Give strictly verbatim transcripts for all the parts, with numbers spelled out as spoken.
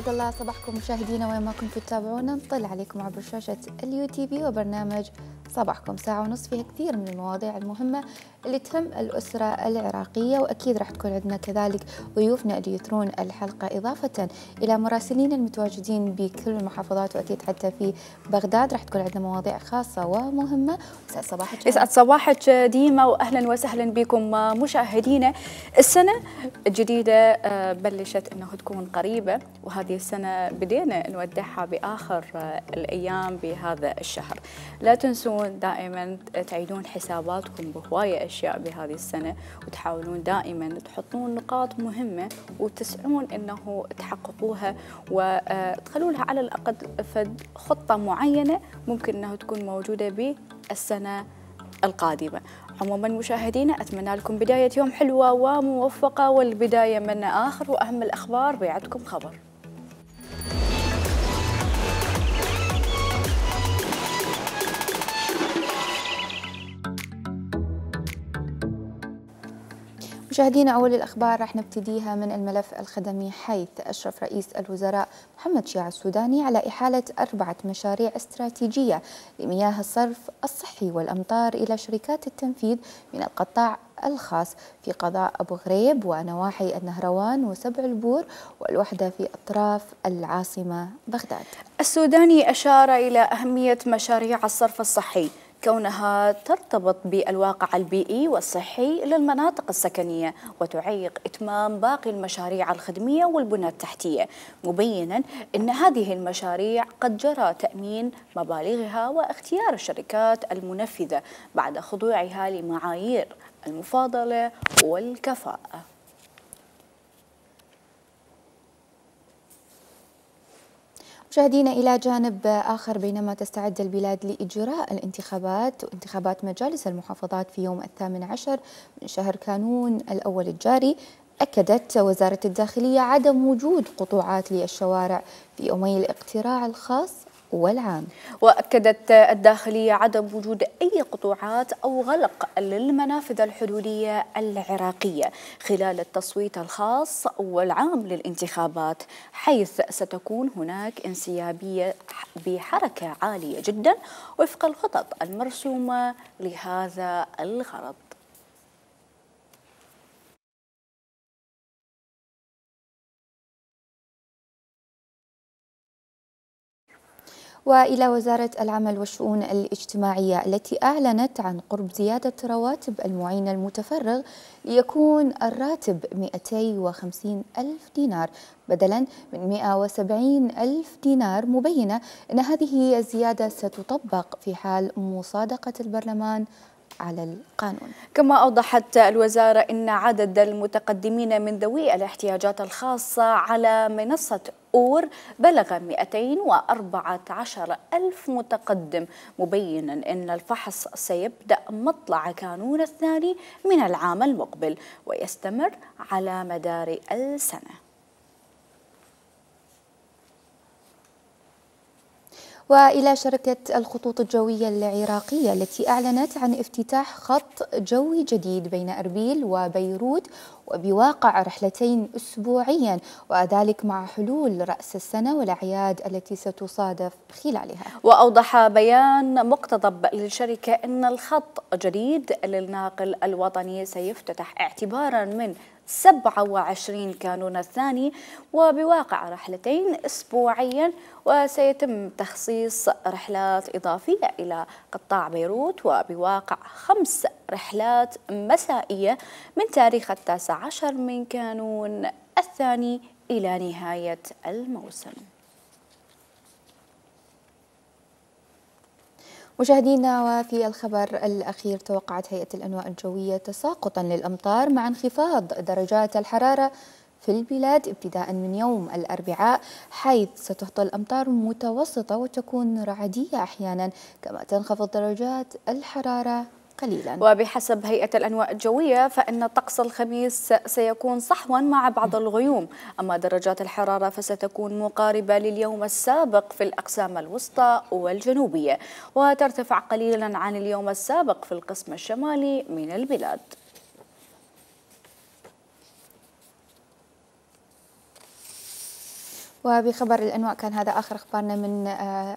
أسعد الله صباحكم مشاهدينا وين ما كنتوا تتابعونا. نطل عليكم عبر شاشة اليو تي في وبرنامج صباحكم، ساعة ونص فيها كثير من المواضيع المهمة اللي تهم الأسرة العراقية، وأكيد راح تكون عندنا كذلك ضيوفنا اللي يثرون الحلقة، إضافة إلى مراسلين المتواجدين بكل المحافظات، وأكيد حتى في بغداد راح تكون عندنا مواضيع خاصة ومهمة. يسعد صباحك. يسعد صباحك ديما، وأهلا وسهلا بكم مشاهدينا. السنة الجديدة بلشت أنه تكون قريبة، وهذه السنة بدينا نودعها بآخر الأيام بهذا الشهر. لا تنسون دائما تعيدون حساباتكم بهواية أشياء بهذه السنة، وتحاولون دائما تحطون نقاط مهمة وتسعون أنه تحققوها وتخلونها على الأقل فد خطة معينة ممكن أنه تكون موجودة بالسنة القادمة. عموما مشاهدينا، أتمنى لكم بداية يوم حلوة وموفقة، والبداية من آخر وأهم الأخبار بيعدكم خبر. مشاهدينا، أول الأخبار راح نبتديها من الملف الخدمي، حيث أشرف رئيس الوزراء محمد شيع السوداني على إحالة أربعة مشاريع استراتيجية لمياه الصرف الصحي والأمطار إلى شركات التنفيذ من القطاع الخاص في قضاء أبو غريب ونواحي النهروان وسبع البور والوحدة في أطراف العاصمة بغداد. السوداني أشار إلى أهمية مشاريع الصرف الصحي كونها ترتبط بالواقع البيئي والصحي للمناطق السكنية، وتعيق إتمام باقي المشاريع الخدمية والبنى التحتية، مبينا أن هذه المشاريع قد جرى تأمين مبالغها واختيار الشركات المنفذة بعد خضوعها لمعايير المفاضلة والكفاءة. مشاهدينا، إلى جانب آخر، بينما تستعد البلاد لإجراء الانتخابات وانتخابات مجالس المحافظات في يوم الثامن عشر من شهر كانون الأول الجاري، أكدت وزارة الداخلية عدم وجود قطوعات للشوارع في يومي الاقتراع الخاص والعام. وأكدت الداخلية عدم وجود أي قطوعات أو غلق للمنافذ الحدودية العراقية خلال التصويت الخاص والعام للانتخابات، حيث ستكون هناك انسيابية بحركة عالية جدا وفق الخطط المرسومة لهذا الغرض. وإلى وزارة العمل والشؤون الاجتماعية، التي أعلنت عن قرب زيادة رواتب المعين المتفرغ ليكون الراتب مئتين وخمسين ألف دينار بدلا من مئة وسبعين ألف دينار، مبينة أن هذه الزيادة ستطبق في حال مصادقة البرلمان على القانون. كما أوضحت الوزارة أن عدد المتقدمين من ذوي الاحتياجات الخاصة على منصة أور بلغ مئتين وأربعة عشر ألف متقدم، مبينا أن الفحص سيبدأ مطلع كانون الثاني من العام المقبل ويستمر على مدار السنة. وإلى شركة الخطوط الجوية العراقية، التي أعلنت عن افتتاح خط جوي جديد بين أربيل وبيروت وبواقع رحلتين أسبوعيا، وذلك مع حلول رأس السنة والأعياد التي ستصادف خلالها. وأوضح بيان مقتضب للشركة أن الخط الجديد للناقل الوطني سيفتتح اعتبارا من سبعة وعشرين كانون الثاني وبواقع رحلتين أسبوعيا، وسيتم تخصيص رحلات إضافية إلى قطاع بيروت وبواقع خمس رحلات مسائية من تاريخ التاسع عشر من كانون الثاني إلى نهاية الموسم. مشاهدينا، وفي الخبر الأخير، توقعت هيئة الأنواء الجوية تساقطا للأمطار مع انخفاض درجات الحرارة في البلاد ابتداء من يوم الأربعاء، حيث ستهطل أمطار متوسطة وتكون رعدية أحيانا، كما تنخفض درجات الحرارة قليلا. وبحسب هيئة الأنواء الجوية فإن طقس الخميس سيكون صحوا مع بعض الغيوم، أما درجات الحرارة فستكون مقاربة لليوم السابق في الأقسام الوسطى والجنوبية، وترتفع قليلا عن اليوم السابق في القسم الشمالي من البلاد. وبخبر الأنواع كان هذا آخر أخبارنا من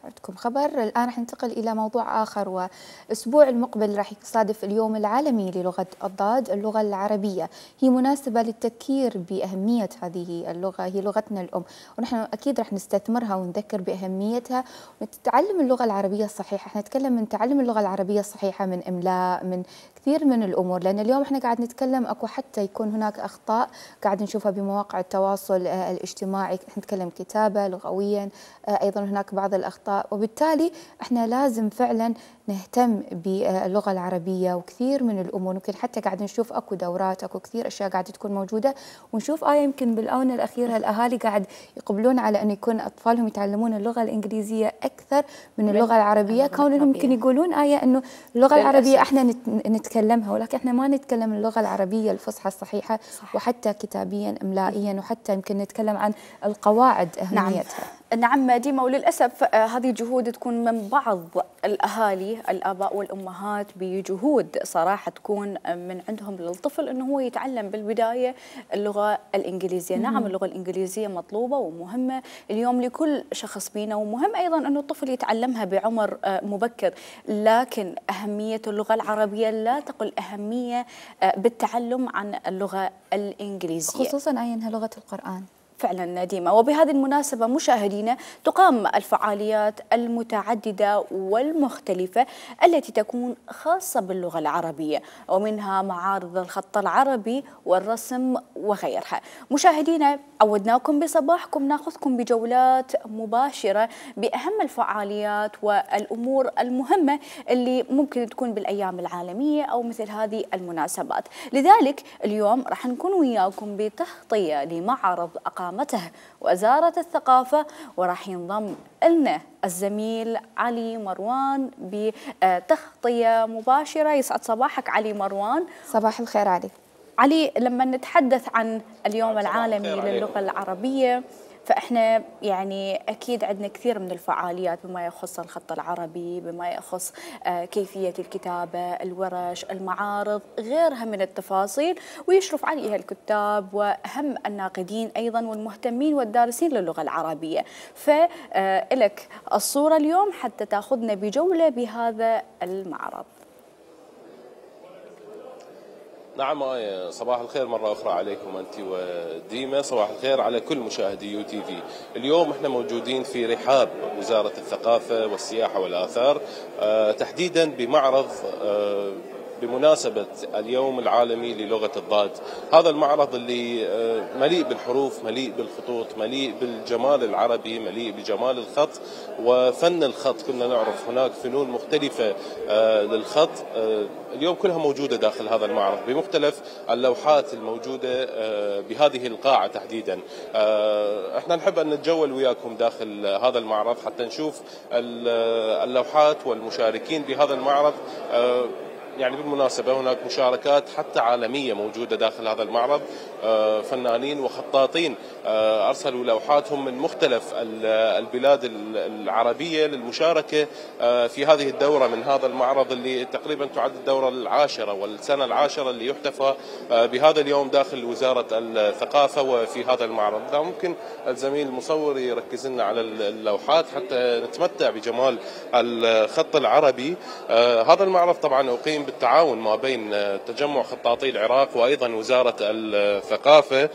عندكم خبر. الآن راح ننتقل إلى موضوع آخر، وأسبوع المقبل راح يصادف اليوم العالمي للغة الضاد اللغة العربية. هي مناسبة للتذكير بأهمية هذه اللغة، هي لغتنا الأم، ونحن أكيد راح نستثمرها ونذكر بأهميتها ونتعلم اللغة العربية الصحيحة. احنا نتكلم من تعلم اللغة العربية الصحيحة، من إملاء، من كثير من الأمور، لأن اليوم احنا قاعد نتكلم أكو حتى يكون هناك أخطاء قاعد نشوفها بمواقع التواصل الاجتماعي، نتكلم كتابة لغويا، أيضا هناك بعض الأخطاء، وبالتالي احنا لازم فعلا نهتم باللغة العربية وكثير من الأمور. يمكن حتى قاعد نشوف أكو دورات، أكو كثير أشياء قاعدة تكون موجودة، ونشوف آية يمكن بالآونة الأخيرة الأهالي قاعد يقبلون على أن يكون أطفالهم يتعلمون اللغة الإنجليزية أكثر من اللغة العربية، كونهم يمكن يقولون آية أنه اللغة العربية احنا نتكلمها، ولكن احنا ما نتكلم اللغة العربية الفصحى الصحيحة، صح. وحتى كتابيا إملائيا، وحتى يمكن نتكلم عن القواعد أهميتها. نعم, نعم ديما، وللأسف آه هذه جهود تكون من بعض الأهالي الآباء والأمهات بجهود صراحة تكون من عندهم للطفل أنه هو يتعلم بالبداية اللغة الإنجليزية. مم. نعم اللغة الإنجليزية مطلوبة ومهمة اليوم لكل شخص فينا، ومهم أيضا أنه الطفل يتعلمها بعمر آه مبكر، لكن أهمية اللغة العربية لا تقل أهمية آه بالتعلم عن اللغة الإنجليزية، خصوصا أي أنها لغة القرآن. فعلا ديما. وبهذه المناسبة مشاهدينا تقام الفعاليات المتعددة والمختلفة التي تكون خاصة باللغة العربية، ومنها معارض الخط العربي والرسم وغيرها. مشاهدينا عودناكم بصباحكم ناخذكم بجولات مباشرة بأهم الفعاليات والأمور المهمة اللي ممكن تكون بالأيام العالمية أو مثل هذه المناسبات. لذلك اليوم راح نكون وياكم بتغطية لمعرض أقامته وزارة الثقافة، وراح ينضم لنا الزميل علي مروان بتغطية مباشرة. يسعد صباحك علي مروان. صباح الخير علي. علي، لما نتحدث عن اليوم العالمي للغة العربية فإحنا يعني أكيد عندنا كثير من الفعاليات بما يخص الخط العربي، بما يخص كيفية الكتابة، الورش، المعارض، غيرها من التفاصيل، ويشرف عليها الكتاب وأهم الناقدين أيضا والمهتمين والدارسين للغة العربية. فلك الصورة اليوم حتى تأخذنا بجولة بهذا المعرض. نعم آية، صباح الخير مرة أخرى عليكم أنت وديما، صباح الخير على كل مشاهدي يو تي في. اليوم احنا موجودين في رحاب وزارة الثقافة والسياحة والآثار، أه تحديدا بمعرض أه بمناسبة اليوم العالمي للغة الضاد. هذا المعرض اللي مليء بالحروف، مليء بالخطوط، مليء بالجمال العربي، مليء بجمال الخط وفن الخط. كنا نعرف هناك فنون مختلفة للخط، اليوم كلها موجودة داخل هذا المعرض بمختلف اللوحات الموجودة بهذه القاعة تحديدا. احنا نحب أن نتجول وياكم داخل هذا المعرض حتى نشوف اللوحات والمشاركين بهذا المعرض. يعني بالمناسبة هناك مشاركات حتى عالمية موجودة داخل هذا المعرض، فنانين وخطاطين أرسلوا لوحاتهم من مختلف البلاد العربية للمشاركة في هذه الدورة من هذا المعرض اللي تقريبا تعد الدورة العاشرة والسنة العاشرة اللي يحتفى بهذا اليوم داخل وزارة الثقافة وفي هذا المعرض. ممكن الزميل المصور يركز لنا على اللوحات حتى نتمتع بجمال الخط العربي. هذا المعرض طبعا أقيم بالتعاون ما بين تجمع خطاطي العراق وأيضا وزارة الثقافة،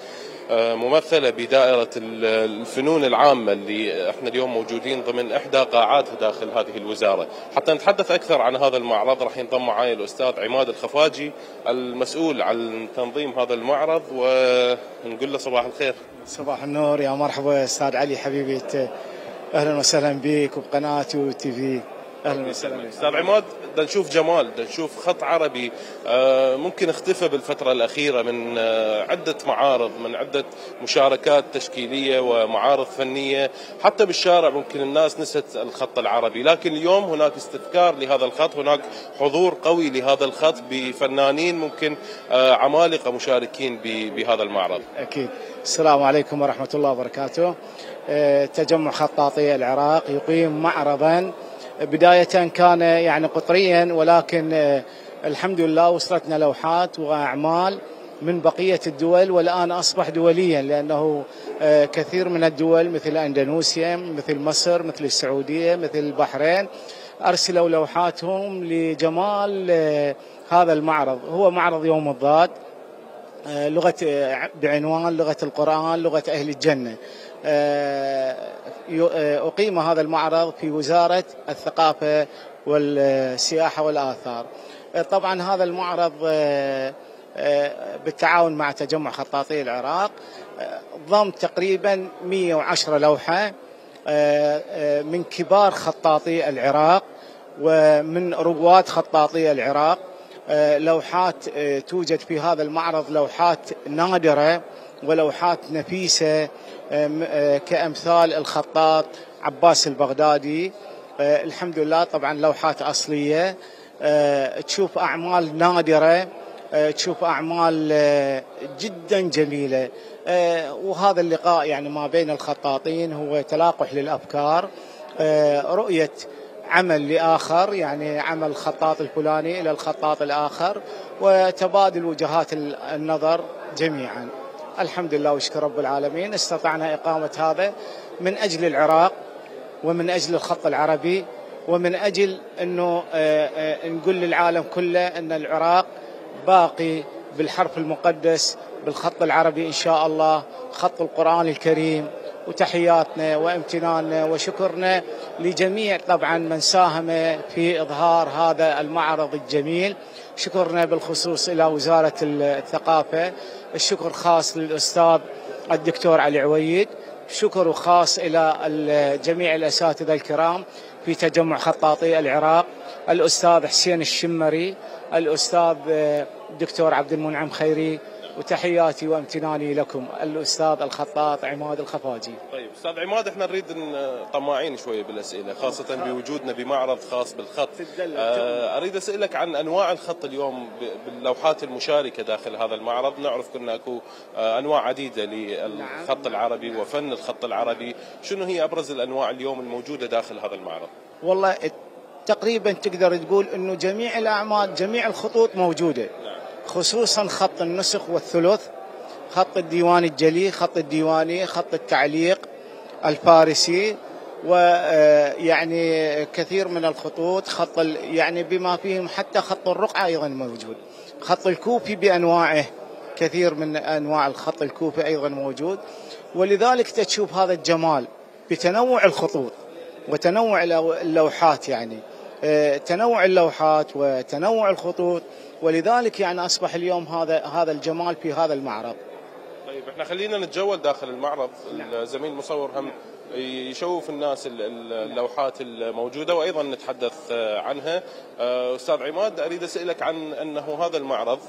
ممثلة بدائرة الفنون العامة اللي احنا اليوم موجودين ضمن إحدى قاعاتها داخل هذه الوزارة. حتى نتحدث أكثر عن هذا المعرض راح ينضم معي الأستاذ عماد الخفاجي المسؤول عن تنظيم هذا المعرض، ونقول له صباح الخير. صباح النور، يا مرحبا أستاذ علي حبيبي، أهلا وسهلا بك وبقناة يو تي في. اهلا وسهلا استاذ عماد. بدنا نشوف جمال، بدنا نشوف خط عربي آه ممكن اختفى بالفتره الاخيره من آه عده معارض، من عده مشاركات تشكيليه ومعارض فنيه، حتى بالشارع ممكن الناس نسيت الخط العربي، لكن اليوم هناك استذكار لهذا الخط، هناك حضور قوي لهذا الخط بفنانين ممكن آه عمالقه مشاركين بهذا المعرض. اكيد. السلام عليكم ورحمه الله وبركاته. آه تجمع خطاطي العراق يقيم معرضا بداية كان يعني قطريا، ولكن الحمد لله وصلتنا لوحات وأعمال من بقية الدول، والآن أصبح دوليا، لأنه كثير من الدول مثل أندونيسيا، مثل مصر، مثل السعودية، مثل البحرين أرسلوا لوحاتهم لجمال هذا المعرض. هو معرض يوم الضاد، لغة بعنوان لغة القرآن، لغة أهل الجنة. أقيم هذا المعرض في وزارة الثقافة والسياحة والآثار. طبعا هذا المعرض بالتعاون مع تجمع خطاطي العراق ضم تقريبا مئة وعشرة لوحة من كبار خطاطي العراق ومن رواد خطاطي العراق. لوحات توجد في هذا المعرض لوحات نادرة ولوحات نفيسة كأمثال الخطاط عباس البغدادي. الحمد لله طبعا لوحات أصلية، تشوف أعمال نادرة، تشوف أعمال جدا جميلة. وهذا اللقاء يعني ما بين الخطاطين هو تلاقح للأفكار، رؤية عمل لآخر، يعني عمل الخطاط الفلاني إلى الخطاط الآخر، وتبادل وجهات النظر جميعا. الحمد لله وشكر رب العالمين استطعنا إقامة هذا من أجل العراق ومن أجل الخط العربي، ومن أجل أنه نقول للعالم كله أن العراق باقي بالحرف المقدس بالخط العربي إن شاء الله، خط القرآن الكريم. وتحياتنا وامتناننا وشكرنا لجميع طبعا من ساهم في إظهار هذا المعرض الجميل. شكرنا بالخصوص إلى وزارة الثقافة، الشكر خاص للأستاذ الدكتور علي عويد، شكر خاص إلى جميع الأساتذة الكرام في تجمع خطاطي العراق، الأستاذ حسين الشمري، الأستاذ الدكتور عبد المنعم خيري، وتحياتي وامتناني لكم الأستاذ الخطاط عماد الخفاجي. طيب أستاذ عماد، احنا نريد طماعين شوية بالأسئلة، خاصة بوجودنا بمعرض خاص بالخط. آه أريد أسألك عن أنواع الخط اليوم باللوحات المشاركة داخل هذا المعرض. نعرف كنا أكو أنواع عديدة للخط العربي وفن الخط العربي، شنو هي أبرز الأنواع اليوم الموجودة داخل هذا المعرض؟ والله تقريبا تقدر تقول أنه جميع الأعمال جميع الخطوط موجودة، خصوصا خط النسخ والثلث، خط الديوان الجلي، خط الديواني، خط التعليق الفارسي، ويعني كثير من الخطوط، خط يعني بما فيهم حتى خط الرقعة أيضا موجود، خط الكوفي بأنواعه، كثير من أنواع الخط الكوفي أيضا موجود. ولذلك تشوف هذا الجمال بتنوع الخطوط وتنوع اللوحات، يعني تنوع اللوحات وتنوع الخطوط، ولذلك يعني أصبح اليوم هذا هذا الجمال في هذا المعرض. طيب احنا خلينا نتجول داخل المعرض. الزميل المصور هم يشوف الناس اللوحات الموجودة وأيضا نتحدث عنها. أستاذ عماد، أريد أسألك عن أنه هذا المعرض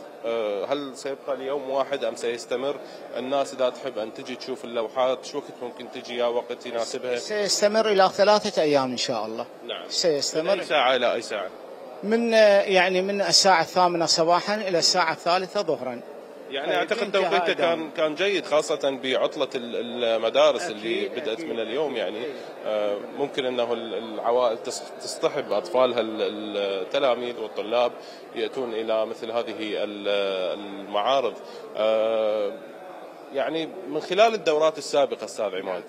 هل سيبقى ليوم واحد أم سيستمر؟ الناس إذا تحب أن تجي تشوف اللوحات شو وقت ممكن تجي يا وقت يناسبها؟ سيستمر إلى ثلاثة أيام إن شاء الله. نعم. سيستمر. من أي ساعة إلى أي ساعة؟ من يعني من الساعة الثامنة صباحا إلى الساعة الثالثة ظهرا. يعني اعتقد توقيته كان كان جيد، خاصه بعطله المدارس اللي بدات من اليوم. يعني ممكن انه العوائل تصطحب اطفالها التلاميذ والطلاب ياتون الى مثل هذه المعارض. يعني من خلال الدورات السابقه استاذ عماد،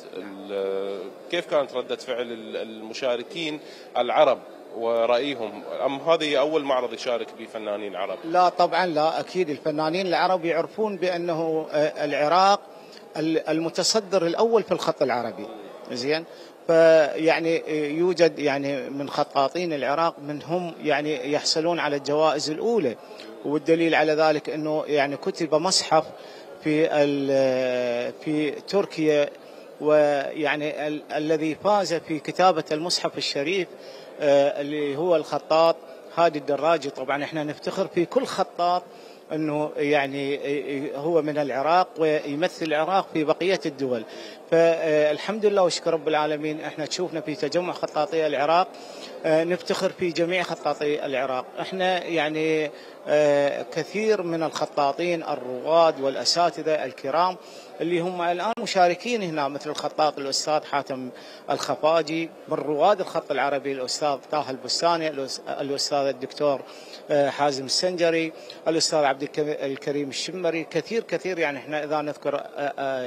كيف كانت رده فعل المشاركين العرب ورأيهم، أم هذه أول معرض يشارك به فنانين عرب؟ لا طبعا لا، أكيد الفنانين العرب يعرفون بأنه العراق المتصدر الأول في الخط العربي، زين. فيعني يوجد يعني من خطاطين العراق من هم يعني يحصلون على الجوائز الأولى، والدليل على ذلك أنه يعني كتب مصحف في في تركيا، ويعني ال الذي فاز في كتابة المصحف الشريف اللي هو الخطاط هادي الدراجي. طبعا احنا نفتخر في كل خطاط انه يعني هو من العراق ويمثل العراق في بقية الدول. فالحمد لله وشكر رب العالمين احنا تشوفنا في تجمع خطاطي العراق نفتخر في جميع خطاطي العراق. احنا يعني كثير من الخطاطين الرواد والاساتذه الكرام اللي هم الان مشاركين هنا، مثل الخطاط الاستاذ حاتم الخفاجي، من رواد الخط العربي الاستاذ طه البستاني، الاستاذ الدكتور حازم السنجري، الاستاذ عبد عبد الكريم الشمري، كثير كثير يعني احنا اذا نذكر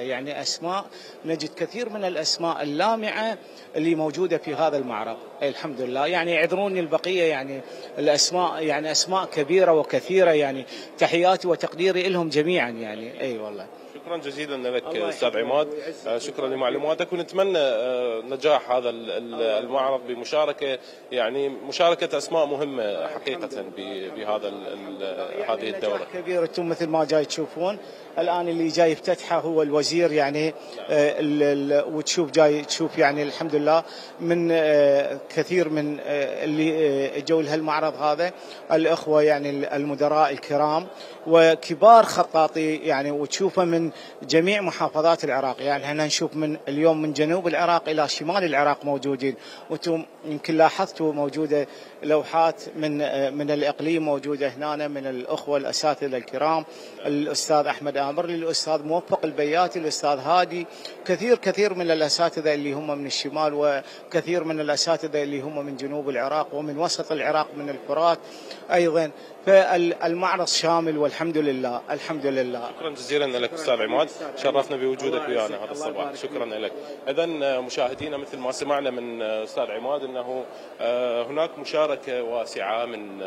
يعني اسماء نجد كثير من الاسماء اللامعه اللي موجوده في هذا المعرض. الحمد لله يعني يعذروني البقيه يعني الاسماء يعني اسماء كبيره وكثيره، يعني تحياتي وتقديري لهم جميعا يعني. اي والله شكرا جزيلا لك استاذ عماد، شكرا لمعلوماتك، ونتمنى نجاح هذا المعرض بمشاركه يعني مشاركه اسماء مهمه حقيقه بهذا هذه الدوره. كبير انتم مثل ما جاي تشوفون الان اللي جاي يفتتحه هو الوزير يعني، وتشوف جاي تشوف يعني الحمد لله من كثير من اللي جو لهالمعرض هذا الاخوه يعني المدراء الكرام وكبار خطاطي يعني، وتشوفه من جميع محافظات العراق. يعني احنا نشوف من اليوم من جنوب العراق الى شمال العراق موجودين، وانتم يمكن لاحظتوا موجوده لوحات من من الاقليم موجوده هنا من الاخوه الاساتذه الكرام، الاستاذ احمد امر، الاستاذ موفق البياتي، الاستاذ هادي، كثير كثير من الاساتذه اللي هم من الشمال، وكثير من الاساتذه اللي هم من جنوب العراق ومن وسط العراق من الفرات ايضا. فالمعرض شامل والحمد لله الحمد لله. شكرا جزيلا لك استاذ عماد، شرفنا بوجودك ويانا هذا الصباح، شكرا لك. اذا مشاهدينا مثل ما سمعنا من استاذ عماد انه هناك مشاركه واسعه من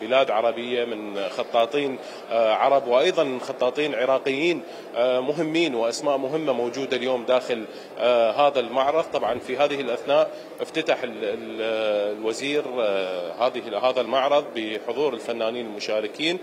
بلاد عربيه، من خطاطين عرب وايضا خطاطين عراقيين مهمين واسماء مهمه موجوده اليوم داخل هذا المعرض. طبعا في هذه الاثناء افتتح الوزير هذه هذا المعرض بحضور الفنانين المشاركين،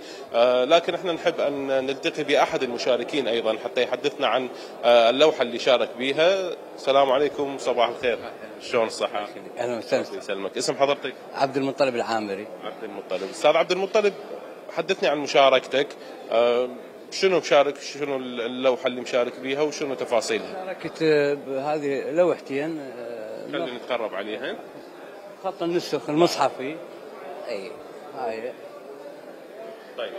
لكن احنا نحب ان نلتقي باحد المشاركين ايضا حتى يحدثنا عن اللوحه اللي شارك بها. السلام عليكم، صباح الخير، شلون الصحه؟ اهلا وسهلا. يسلمك، اسم حضرتك؟ عبد المطلب العامري. عبد المطلب. استاذ عبد المطلب، حدثني عن مشاركتك، شنو مشارك، شنو اللوحه اللي مشارك بيها وشنو تفاصيلها؟ شاركت بهذه لوحتين، خلينا نتقرب عليها. خط النسخ المصحفي، اي هاي. طيب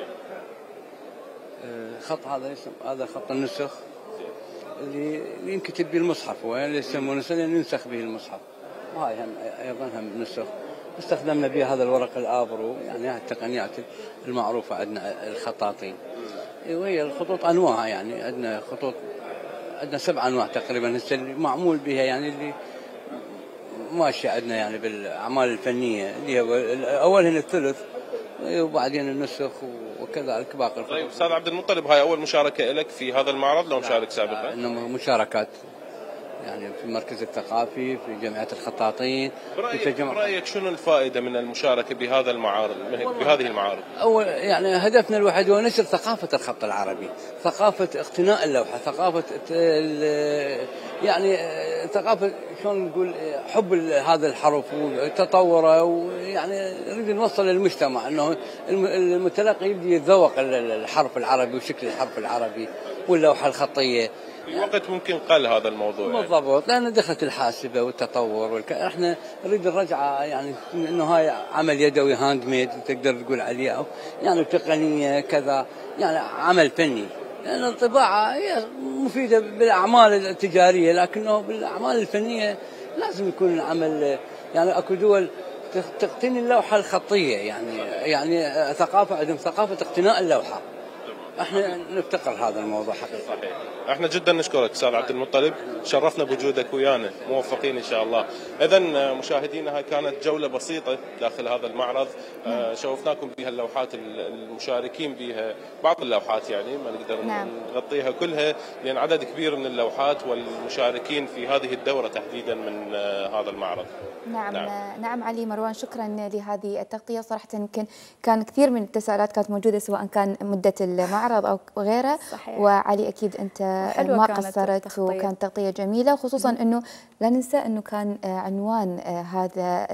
خط هذا اسم هذا خط النسخ اللي ينكتب به المصحف، اللي يسمونه ينسخ به المصحف، وهاي هم ايضا هم نسخ. استخدمنا بها هذا الورق الابرو، يعني هاي التقنيات المعروفه عندنا الخطاطين. وهي الخطوط انواع، يعني عندنا خطوط عندنا سبع انواع تقريبا هسه اللي معمول بها، يعني اللي ماشيه عندنا يعني بالاعمال الفنيه، اللي هو اول هنا الثلث وبعدين النسخ وكذلك باقي الخطوط. طيب استاذ عبد المطلب، هاي اول مشاركه لك في هذا المعرض لو مشارك سابقا؟ انما مشاركات يعني في المركز الثقافي، في جمعيه الخطاطين. برأيك, برأيك شنو الفائده من المشاركه بهذا المعارض، بهذه المعارض؟ اول يعني هدفنا الوحيد هو نشر ثقافه الخط العربي، ثقافه اقتناء اللوحه، ثقافه يعني ثقافه شلون نقول حب هذا الحرف وتطوره، ويعني نريد نوصل للمجتمع انه المتلقي يبدي يتذوق الحرف العربي وشكل الحرف العربي واللوحه الخطيه. في وقت ممكن قل هذا الموضوع بالضبط، يعني. لان دخلت الحاسبه والتطور والك... احنا نريد الرجعه، يعني انه هاي عمل يدوي هاند ميد تقدر تقول عليه، يعني تقنيه كذا، يعني عمل فني. لان الطباعه هي مفيده بالاعمال التجاريه، لكنه بالاعمال الفنيه لازم يكون العمل، يعني اكو دول تقتني اللوحه الخطيه، يعني يعني ثقافه عندهم ثقافه اقتناء اللوحه. احنا نفتقر هذا الموضوع حقيقة. صحيح. احنا جدا نشكرك استاذ عبد المطلب، شرفنا بوجودك ويانا، موفقين ان شاء الله. اذا مشاهدينا هاي كانت جوله بسيطه داخل هذا المعرض، آه شوفناكم بها اللوحات المشاركين بها، بعض اللوحات يعني ما نقدر نعم. نغطيها كلها لان عدد كبير من اللوحات والمشاركين في هذه الدوره تحديدا من آه هذا المعرض. نعم نعم, نعم علي مروان، شكرا لهذه التغطيه. صراحه يمكن كان كثير من التساؤلات كانت موجوده سواء كان مده المعرض او غيره. صحيح. وعلي اكيد انت ما قصرت، وكانت تغطيه جميله، وخصوصا انه لا ننسى انه كان عنوان هذا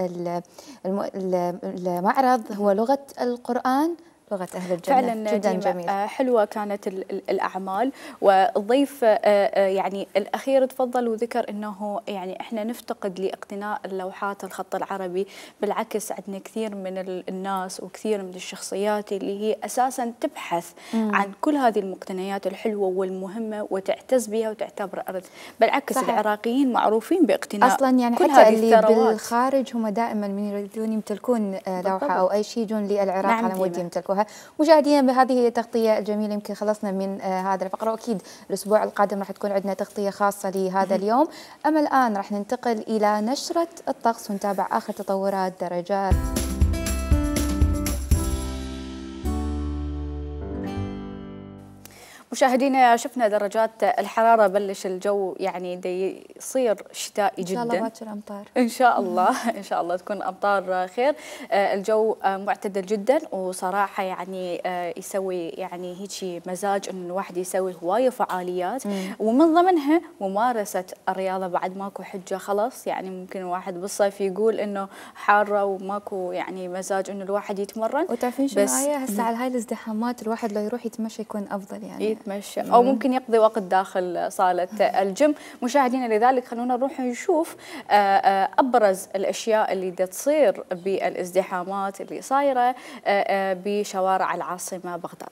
المعرض هو لغه القرآن، لغة أهل الجنة. فعلا جدا جميل. حلوة كانت الأعمال. والضيف يعني الأخير تفضل وذكر أنه يعني إحنا نفتقد لاقتناء اللوحات الخط العربي، بالعكس عندنا كثير من الناس وكثير من الشخصيات اللي هي أساسا تبحث مم. عن كل هذه المقتنيات الحلوة والمهمة وتعتز بها وتعتبر أرض. بالعكس صحيح. العراقيين معروفين باقتناء أصلا يعني كل حتى اللي بالخارج هم دائما من يريدون يمتلكون لوحة أو أي شيء يجون للعراق نعم على مود يمتلكوها. تابعوها. مشاهدينا بهذه هي التغطية الجميلة، يمكن خلصنا من آه هذا الفقرة، وأكيد الأسبوع القادم راح تكون عندنا تغطية خاصة لهذا اليوم. أما الآن راح ننتقل إلى نشرة الطقس ونتابع آخر تطورات درجات. مشاهدينا شفنا درجات الحرارة، بلش الجو يعني دي يصير شتائي جدا. إن شاء الله باكر أمطار. إن شاء الله إن شاء الله تكون أمطار خير. الجو معتدل جدا، وصراحة يعني يسوي يعني هيك مزاج إنه الواحد يسوي هواية فعاليات، ومن ضمنها ممارسة الرياضة. بعد ماكو حجة خلاص، يعني ممكن الواحد بالصيف يقول إنه حارة وماكو يعني مزاج إنه الواحد يتمرن. وتعرفين شو آية هسه على هاي الازدحامات الواحد لو يروح يتمشى يكون أفضل، يعني يتمشى أو ممكن يقضي وقت داخل صالة الجيم. مشاهدينا لذلك خلونا نروح نشوف أبرز الأشياء اللي دا تصير بالازدحامات اللي صايرة بشوارع العاصمة بغداد.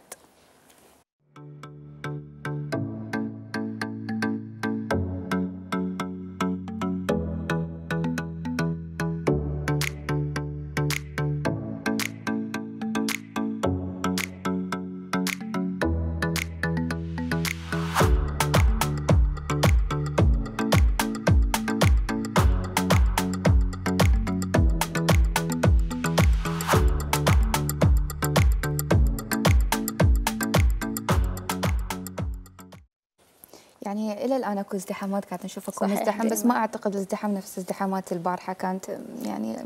يعني الى الان اكو ازدحامات قاعد نشوف اكو مزدحم، بس ما اعتقد الازدحام نفس ازدحامات البارحه، كانت يعني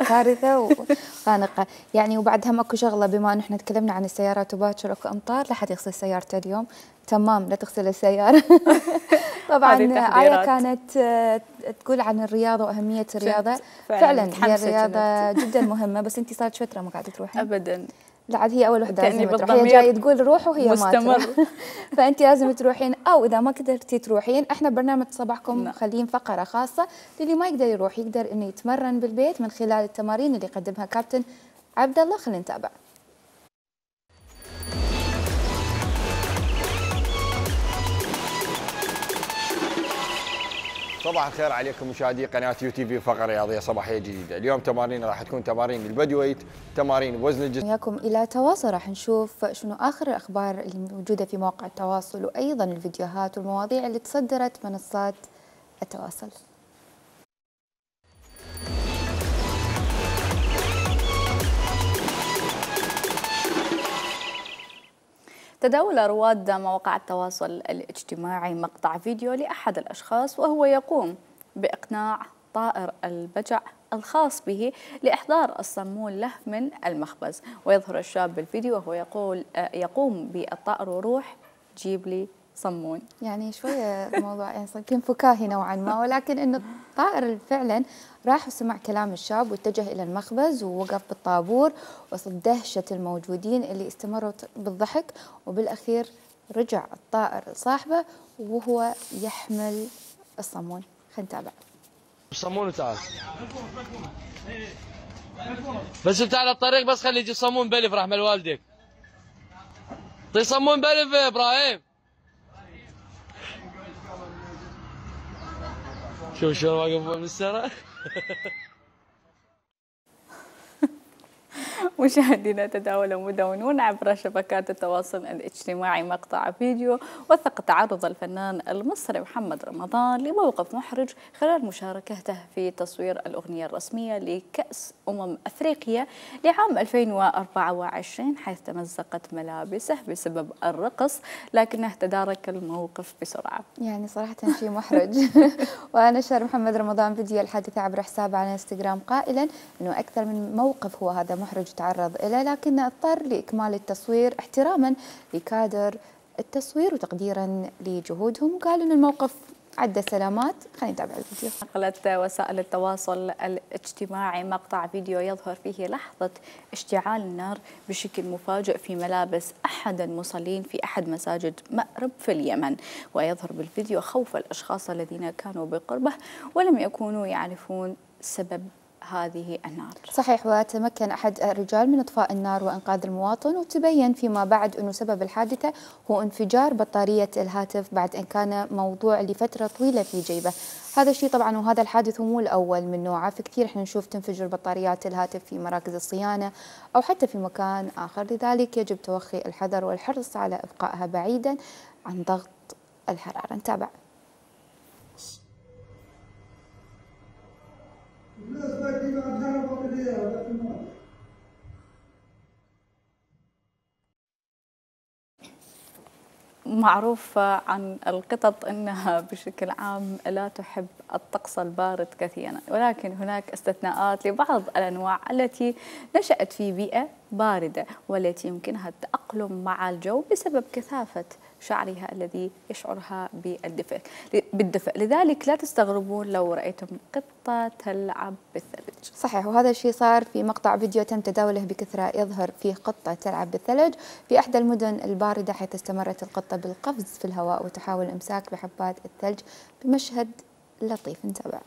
كارثه وخانقه. يعني وبعد هم اكو شغله، بما انه احنا تكلمنا عن السيارات وباكر اكو امطار، لا حد يغسل سيارته اليوم، تمام لا تغسل السياره. طبعا آية كانت تقول عن الرياضه واهميه الرياضه، فعلا, فعلا هي الرياضه جدا مهمه، بس انت صارت فتره ما قاعده تروحين ابدا. لا عاد هي اول وحده لازم تروح، هي جايه تقول روحوا وهي ما تروح. فانت لازم تروحين، او اذا ما قدرتي تروحين احنا برنامج صباحكم مخلين فقره خاصه للي ما يقدر يروح، يقدر انه يتمرن بالبيت من خلال التمارين اللي يقدمها كابتن عبد الله. خلينا نتابع. صباح الخير عليكم مشاهدي قناه يو تي في، فقره رياضيه صباحيه جديده. اليوم تمارين راح تكون تمارين البادي ويت، تمارين بوزن الجسم. وياكم الى تواصل، راح نشوف شنو اخر الاخبار اللي موجوده في مواقع التواصل، وايضا الفيديوهات والمواضيع اللي تصدرت منصات التواصل. تداول رواد مواقع التواصل الاجتماعي مقطع فيديو لأحد الأشخاص وهو يقوم بإقناع طائر البجع الخاص به لإحضار الصمون له من المخبز، ويظهر الشاب بالفيديو وهو يقول يقوم بالطائر وروح جيب لي صمون. يعني شوية الموضوع يعني يمكن فكاهي نوعا ما، ولكن إنه الطائر فعلا راح وسمع كلام الشاب واتجه إلى المخبز ووقف بالطابور وسط دهشة الموجودين اللي استمروا بالضحك، وبالأخير رجع الطائر لصاحبه وهو يحمل الصمون. خلينا نتابع. الصمون تعال بس انت على الطريق، بس خلي يجي صمون بلف رحمة والديك. طي صمون بلف يا ابراهيم. شوف شلون واقف بالسرة. مشاهدينا تداولوا مدونون عبر شبكات التواصل الاجتماعي مقطع فيديو وثق تعرض الفنان المصري محمد رمضان لموقف محرج خلال مشاركته في تصوير الأغنية الرسمية لكأس أمم أفريقيا لعام ألفين وأربعة وعشرين، حيث تمزقت ملابسه بسبب الرقص، لكنه تدارك الموقف بسرعة. يعني صراحة شيء محرج. ونشر محمد رمضان فيديو الحادثة عبر حسابه على انستغرام قائلا أنه أكثر من موقف هو هذا محرج تعرض إليه، لكنه اضطر لإكمال التصوير احتراما لكادر التصوير وتقديرا لجهودهم، وقال أن الموقف عدة سلامات. خلينا نتابع الفيديو. نقلت وسائل التواصل الاجتماعي مقطع فيديو يظهر فيه لحظة اشتعال النار بشكل مفاجئ في ملابس أحد المصلين في أحد مساجد مأرب في اليمن، ويظهر بالفيديو خوف الأشخاص الذين كانوا بقربه ولم يكونوا يعرفون سبب هذه النار. صحيح، وتمكن أحد الرجال من إطفاء النار وإنقاذ المواطن، وتبين فيما بعد أنه سبب الحادثة هو انفجار بطارية الهاتف بعد أن كان موضوع لفترة طويلة في جيبه. هذا الشيء طبعا وهذا الحادث هو مو الأول من نوعه، في كثير احنا نشوف تنفجر بطاريات الهاتف في مراكز الصيانة أو حتى في مكان آخر، لذلك يجب توخي الحذر والحرص على إبقائها بعيدا عن ضغط الحرارة. نتابع. معروف عن القطط أنها بشكل عام لا تحب الطقس البارد كثيرا، ولكن هناك استثناءات لبعض الأنواع التي نشأت في بيئة باردة والتي يمكنها التأقلم مع الجو بسبب كثافة شعرها الذي يشعرها بالدفء بالدفء لذلك لا تستغربون لو رأيتم قطة تلعب بالثلج. صحيح، وهذا الشيء صار في مقطع فيديو تم تداوله بكثرة يظهر فيه قطة تلعب بالثلج في إحدى المدن الباردة، حيث استمرت القطة بالقفز في الهواء وتحاول الإمساك بحبات الثلج بمشهد لطيف. نتابع.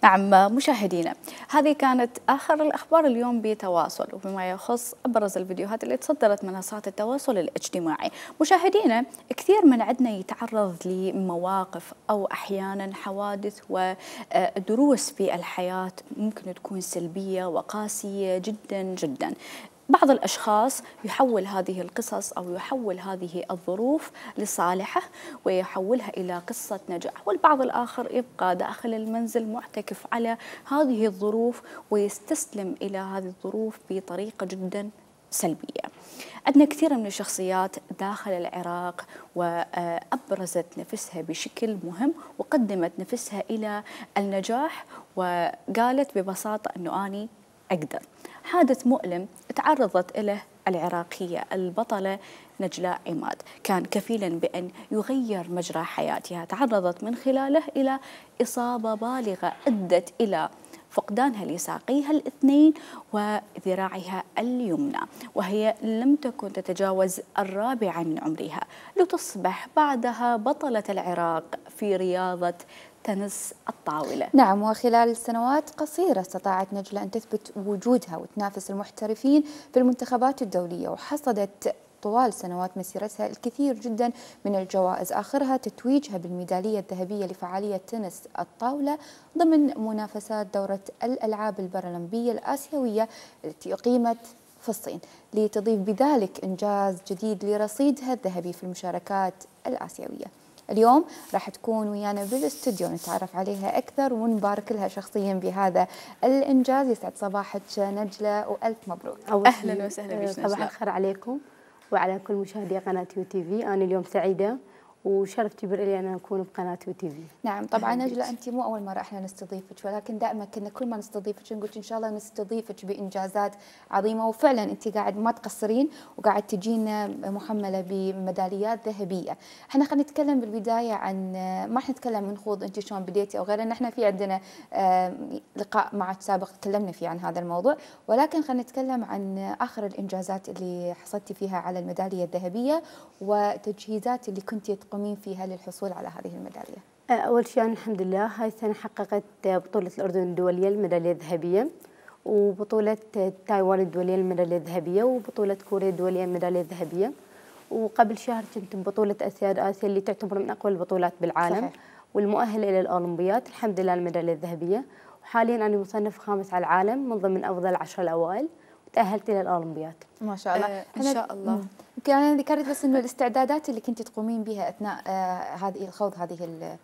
نعم مشاهدينا، هذه كانت آخر الأخبار اليوم بتواصل وبما يخص أبرز الفيديوهات اللي تصدرت منصات التواصل الاجتماعي. مشاهدينا، كثير من عندنا يتعرض لمواقف أو أحيانا حوادث ودروس في الحياة ممكن تكون سلبية وقاسية جدا جدا. بعض الأشخاص يحول هذه القصص أو يحول هذه الظروف لصالحه ويحولها إلى قصة نجاح، والبعض الآخر يبقى داخل المنزل معتكف على هذه الظروف ويستسلم إلى هذه الظروف بطريقة جدا سلبية. عندنا كثير من الشخصيات داخل العراق وأبرزت نفسها بشكل مهم وقدمت نفسها إلى النجاح وقالت ببساطة أنه أني أقدر. حادث مؤلم تعرضت له العراقية البطلة نجلاء عماد كان كفيلا بأن يغير مجرى حياتها، تعرضت من خلاله إلى إصابة بالغة أدت إلى فقدانها لساقيها الاثنين وذراعها اليمنى، وهي لم تكن تتجاوز الرابعة من عمرها، لتصبح بعدها بطلة العراق في رياضة تنس الطاولة. نعم، وخلال سنوات قصيرة استطاعت نجلة أن تثبت وجودها وتنافس المحترفين في المنتخبات الدولية، وحصدت طوال سنوات مسيرتها الكثير جدا من الجوائز، آخرها تتويجها بالميدالية الذهبية لفعالية تنس الطاولة ضمن منافسات دورة الألعاب البارالمبية الآسيوية التي أقيمت في الصين، لتضيف بذلك إنجاز جديد لرصيدها الذهبي في المشاركات الآسيوية. اليوم راح تكون ويانا بالاستوديو نتعرف عليها أكثر ونبارك لها شخصيا بهذا الإنجاز. يسعد صباحك نجلة وألف مبروك. أهلا وسهلا بك. صباح الخير عليكم وعلى كل مشاهدي قناة يو تي في. أنا اليوم سعيدة وشرف كبير لي أن أكون بقناة يو تي في. نعم طبعا نجلة، أنت مو أول مرة إحنا نستضيفك، ولكن دائما كنا كل ما نستضيفك نقول إن شاء الله نستضيفك بإنجازات عظيمة، وفعلا أنت قاعد ما تقصرين وقاعد تجينا محملة بميداليات ذهبية. إحنا خلينا نتكلم بالبداية عن، ما راح نتكلم من خوض أنت شلون بديتي أو غيره، إحنا في عندنا لقاء معك سابق تكلمنا فيه عن هذا الموضوع، ولكن خلينا نتكلم عن آخر الإنجازات اللي حصلتي فيها على الميدالية الذهبية وتجهيزات اللي كنتي تقومين فيها للحصول على هذه الميدالية. أول شيء الحمد لله هاي السنة حققت بطولة الأردن الدولية الميدالية الذهبية، وبطولة تايوان الدولية الميدالية الذهبية، وبطولة كوريا الدولية الميدالية الذهبية، وقبل شهر كنت ببطولة آسيا آسيا اللي تعتبر من أقوى البطولات بالعالم. صحيح. والمؤهل إلى الأولمبيات الحمد لله الميدالية الذهبية، وحاليا أنا مصنف خامس على العالم من ضمن أفضل عشرة الأوائل، وتأهلت إلى الأولمبيات. ما شاء الله. آه إن شاء الله. يمكن أنا ذكرت بس إنه الاستعدادات اللي كنت تقومين بها أثناء آه هذه الخوض هذه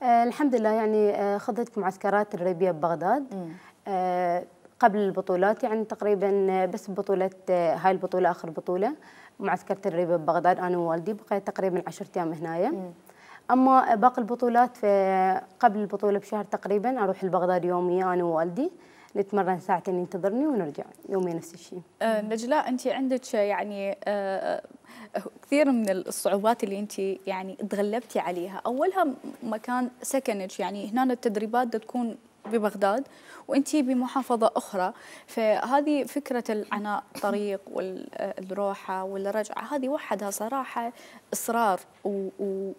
آه الحمد لله، يعني آه خضت معسكرات تدريبية ببغداد آه قبل البطولات، يعني تقريبا بس بطولة آه هاي البطولة آخر بطولة معسكر تدريبي ببغداد أنا ووالدي، بقيت تقريبا عشرة أيام هنايا. مم. أما باقي البطولات في قبل البطولة بشهر تقريبا أروح لبغداد يوميا أنا ووالدي، نتمرن ساعتين ينتظرني ونرجع يوميا نفس الشيء. آه نجلاء، أنت عندك يعني آه كثير من الصعوبات اللي أنت يعني تغلبتي عليها، أولها مكان سكنك، يعني هنا التدريبات تكون ببغداد وانت بمحافظه اخرى، فهذه فكره العناء الطريق والروحه والرجعه هذه وحدها صراحه اصرار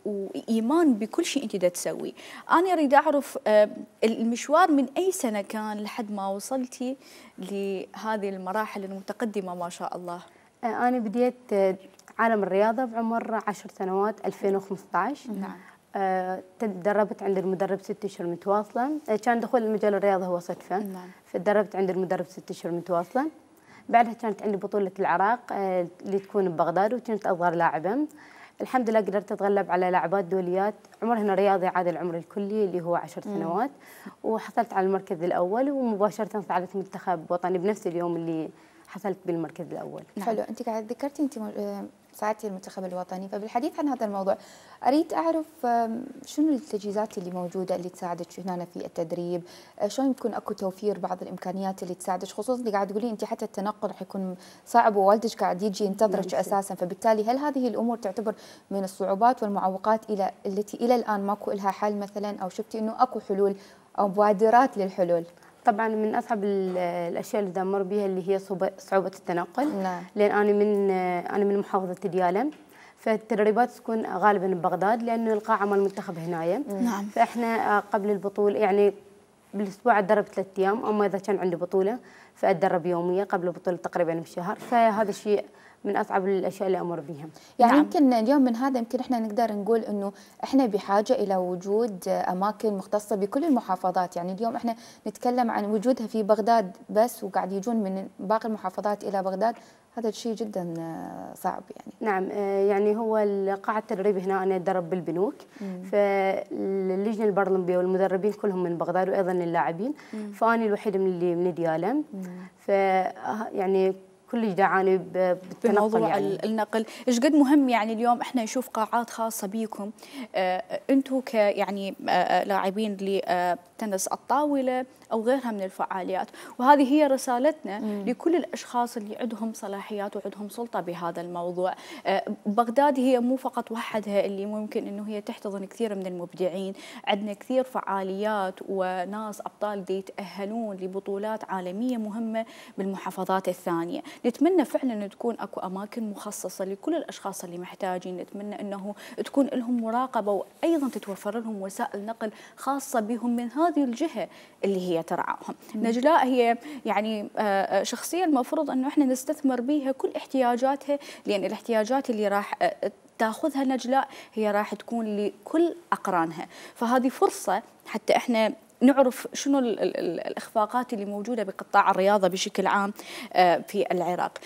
وايمان بكل شيء انت دا تسوي. انا اريد اعرف المشوار من اي سنه كان لحد ما وصلتي لهذه المراحل المتقدمه ما شاء الله؟ انا بديت عالم الرياضه بعمر عشر سنوات ألفين وخمسة عشر. نعم. أه تدربت عند المدرب ست اشهر متواصله، كان دخول المجال الرياضه هو صدفه. نعم. فتدربت عند المدرب ست اشهر متواصله. بعدها كانت عندي بطوله العراق أه اللي تكون ببغداد وكنت اصغر لاعبه. الحمد لله قدرت اتغلب على لاعبات دوليات عمرهن رياضي عادي العمر الكلي اللي هو عشر سنوات، وحصلت على المركز الاول ومباشره صعدت منتخب وطني بنفس اليوم اللي حصلت بالمركز الاول. حلو. انت قاعد ذكرتي انت صعدتي المنتخب الوطني، فبالحديث عن هذا الموضوع اريد اعرف شنو التجهيزات اللي موجوده اللي تساعدك هنا في التدريب، شلون يكون اكو توفير بعض الامكانيات اللي تساعدك، خصوصا اللي قاعد تقولين انت حتى التنقل راح يكون صعب ووالدك قاعد يجي ينتظرك اساسا، فبالتالي هل هذه الامور تعتبر من الصعوبات والمعوقات الى التي الى الان ماكو لها حل مثلا، او شفتي انه اكو حلول او مبادرات للحلول؟ طبعا من اصعب الاشياء اللي دمر بها اللي هي صعوبه التنقل. نعم. لان انا من انا من محافظه ديالى، فالتدريبات تكون غالبا ببغداد لانه القاعه مال المنتخب هنايا. نعم. فاحنا قبل البطوله يعني بالاسبوع اتدرب ثلاث ايام، اما اذا كان عندي بطوله فاتدرب يوميا قبل البطوله تقريبا بشهر، فهذا الشيء من اصعب الاشياء اللي امر بها. يعني نعم. يمكن اليوم من هذا يمكن احنا نقدر نقول انه احنا بحاجه الى وجود اماكن مختصه بكل المحافظات، يعني اليوم احنا نتكلم عن وجودها في بغداد بس وقاعد يجون من باقي المحافظات الى بغداد، هذا الشيء جدا صعب يعني. نعم. يعني هو قاعة التدريب هنا انا اتدرب بالبنوك، فاللجنه البرلمبيه والمدربين كلهم من بغداد وايضا اللاعبين، فاني الوحيده من اللي من ديالى. ف يعني كل دعاني بموضوع يعني. النقل، ايش قد مهم يعني اليوم احنا نشوف قاعات خاصه بيكم آه انتم ك يعني آه لاعبين لتنس الطاوله او غيرها من الفعاليات، وهذه هي رسالتنا مم. لكل الاشخاص اللي عندهم صلاحيات وعندهم سلطه بهذا الموضوع. آه بغداد هي مو فقط وحدها اللي ممكن انه هي تحتضن كثير من المبدعين، عندنا كثير فعاليات وناس ابطال دي يتاهلون لبطولات عالميه مهمه بالمحافظات الثانيه. نتمنى فعلا أن تكون أكو أماكن مخصصة لكل الأشخاص اللي محتاجين، نتمنى أنه تكون لهم مراقبة وأيضا تتوفر لهم وسائل نقل خاصة بهم من هذه الجهة اللي هي ترعاهم. نجلاء هي يعني شخصية المفروض أنه إحنا نستثمر بها كل احتياجاتها، لأن الاحتياجات اللي راح تاخذها نجلاء هي راح تكون لكل أقرانها، فهذه فرصة حتى إحنا نعرف شنو الإخفاقات اللي موجودة بقطاع الرياضة بشكل عام في العراق.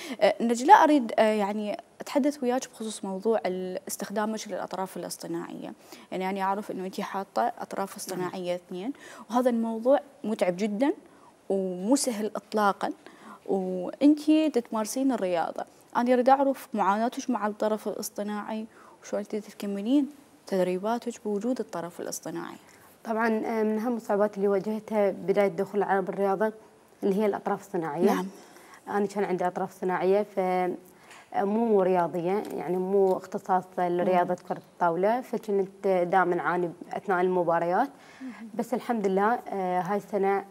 نجلاء أريد يعني أتحدث وياك بخصوص موضوع استخدامك للأطراف الاصطناعية، يعني أنا أعرف أنه أنت حاطة أطراف اصطناعية اثنين، وهذا الموضوع متعب جدا ومو سهل إطلاقا، وأنت تتمارسين الرياضة. أنا أريد أعرف معاناتك مع الطرف الاصطناعي وشلون تكملين تدريباتك بوجود الطرف الاصطناعي. طبعا من اهم الصعوبات اللي واجهتها بدايه دخول العرب بالرياضه اللي هي الاطراف الصناعيه. نعم. انا كان عندي اطراف صناعيه ف مو رياضيه، يعني مو اختصاص لرياضه كره الطاوله، فكنت دائما اعاني اثناء المباريات. بس الحمد لله هاي السنه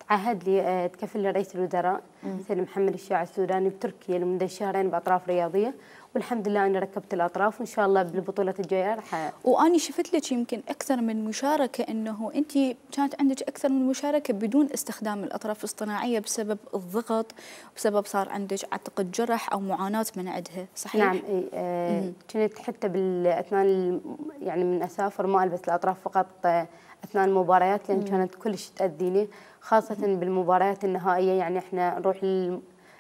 تعهد لي تكفل لي رئيس الوزراء سيد محمد الشياع السوداني بتركيا لمده شهرين باطراف رياضيه، والحمد لله أنا ركبت الأطراف وإن شاء الله بالبطولة الجاية راح. وأني شفت لك يمكن أكثر من مشاركة، أنه أنت كانت عندك أكثر من مشاركة بدون استخدام الأطراف الاصطناعية بسبب الضغط، بسبب صار عندك أعتقد جرح أو معاناة من عندها، صحيح؟ نعم. آه كنت حتى بالأثناء يعني من أسافر ما ألبس الأطراف فقط أثناء المباريات، لأن كانت كلش تأذيني، خاصة بالمباريات النهائية. يعني إحنا نروح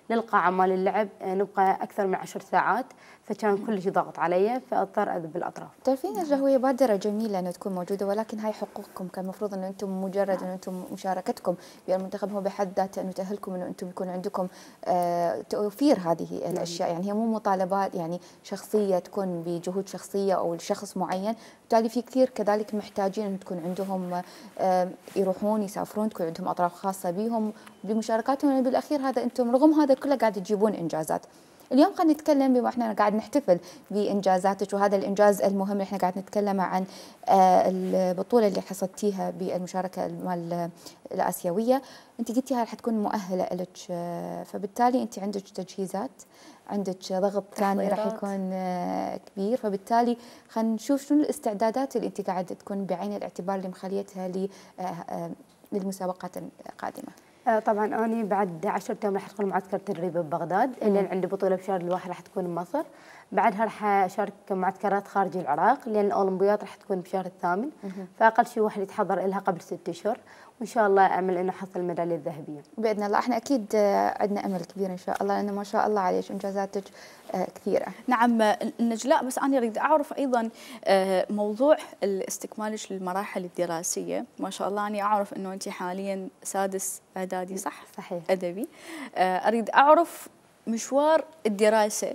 للقاعة مال اللعب نبقى أكثر من عشر ساعات، فكان كل شيء ضغط علي فاضطر اذهب بالاطراف. تعرفين نجلاء هي بادره جميله انها تكون موجوده، ولكن هاي حقوقكم، كان المفروض انه انتم مجرد انه انتم مشاركتكم بالمنتخب هو بحد ذاته انه تاهلكم انه انتم يكون عندكم آه توفير هذه الاشياء، يعني هي مو مطالبات يعني شخصيه تكون بجهود شخصيه او لشخص معين، بالتالي في كثير كذلك محتاجين انه تكون عندهم آه يروحون يسافرون، تكون عندهم اطراف خاصه بهم بمشاركاتهم، يعني بالاخير هذا انتم رغم هذا كله قاعد تجيبون انجازات. اليوم خلينا نتكلم بما احنا قاعد نحتفل بانجازاتك، وهذا الانجاز المهم اللي احنا قاعد نتكلم عن البطوله اللي حصدتيها بالمشاركه المال الاسيويه. انت قلتي هاي رح تكون مؤهله لك، فبالتالي انت عندك تجهيزات، عندك ضغط ثاني راح يكون كبير، فبالتالي خلينا نشوف شنو الاستعدادات اللي انت قاعده تكون بعين الاعتبار اللي مخليتها للمسابقات القادمه. طبعا أنا بعد عشرة أيام راح أدخل معسكر تدريب ببغداد، لأن عندي بطولة بشهر الواحد راح تكون بمصر. بعدها راح أشارك معسكرات خارج العراق، لأن الأولمبيات راح تكون بشهر الثامن، فأقل شيء واحد يتحضر لها قبل ست أشهر، وإن شاء الله أمل إنه أحصل الميدالية الذهبية بإذن الله. إحنا أكيد عندنا أمل كبير إن شاء الله، لأنه ما شاء الله عليك إنجازاتك كثيرة. نعم نجلاء، بس أنا أريد أعرف أيضا موضوع استكمالك للمراحل الدراسية. ما شاء الله أنا أعرف أنه أنت حاليا سادس إعدادي، صح؟ صحيح. أدبي. أريد أعرف مشوار الدراسة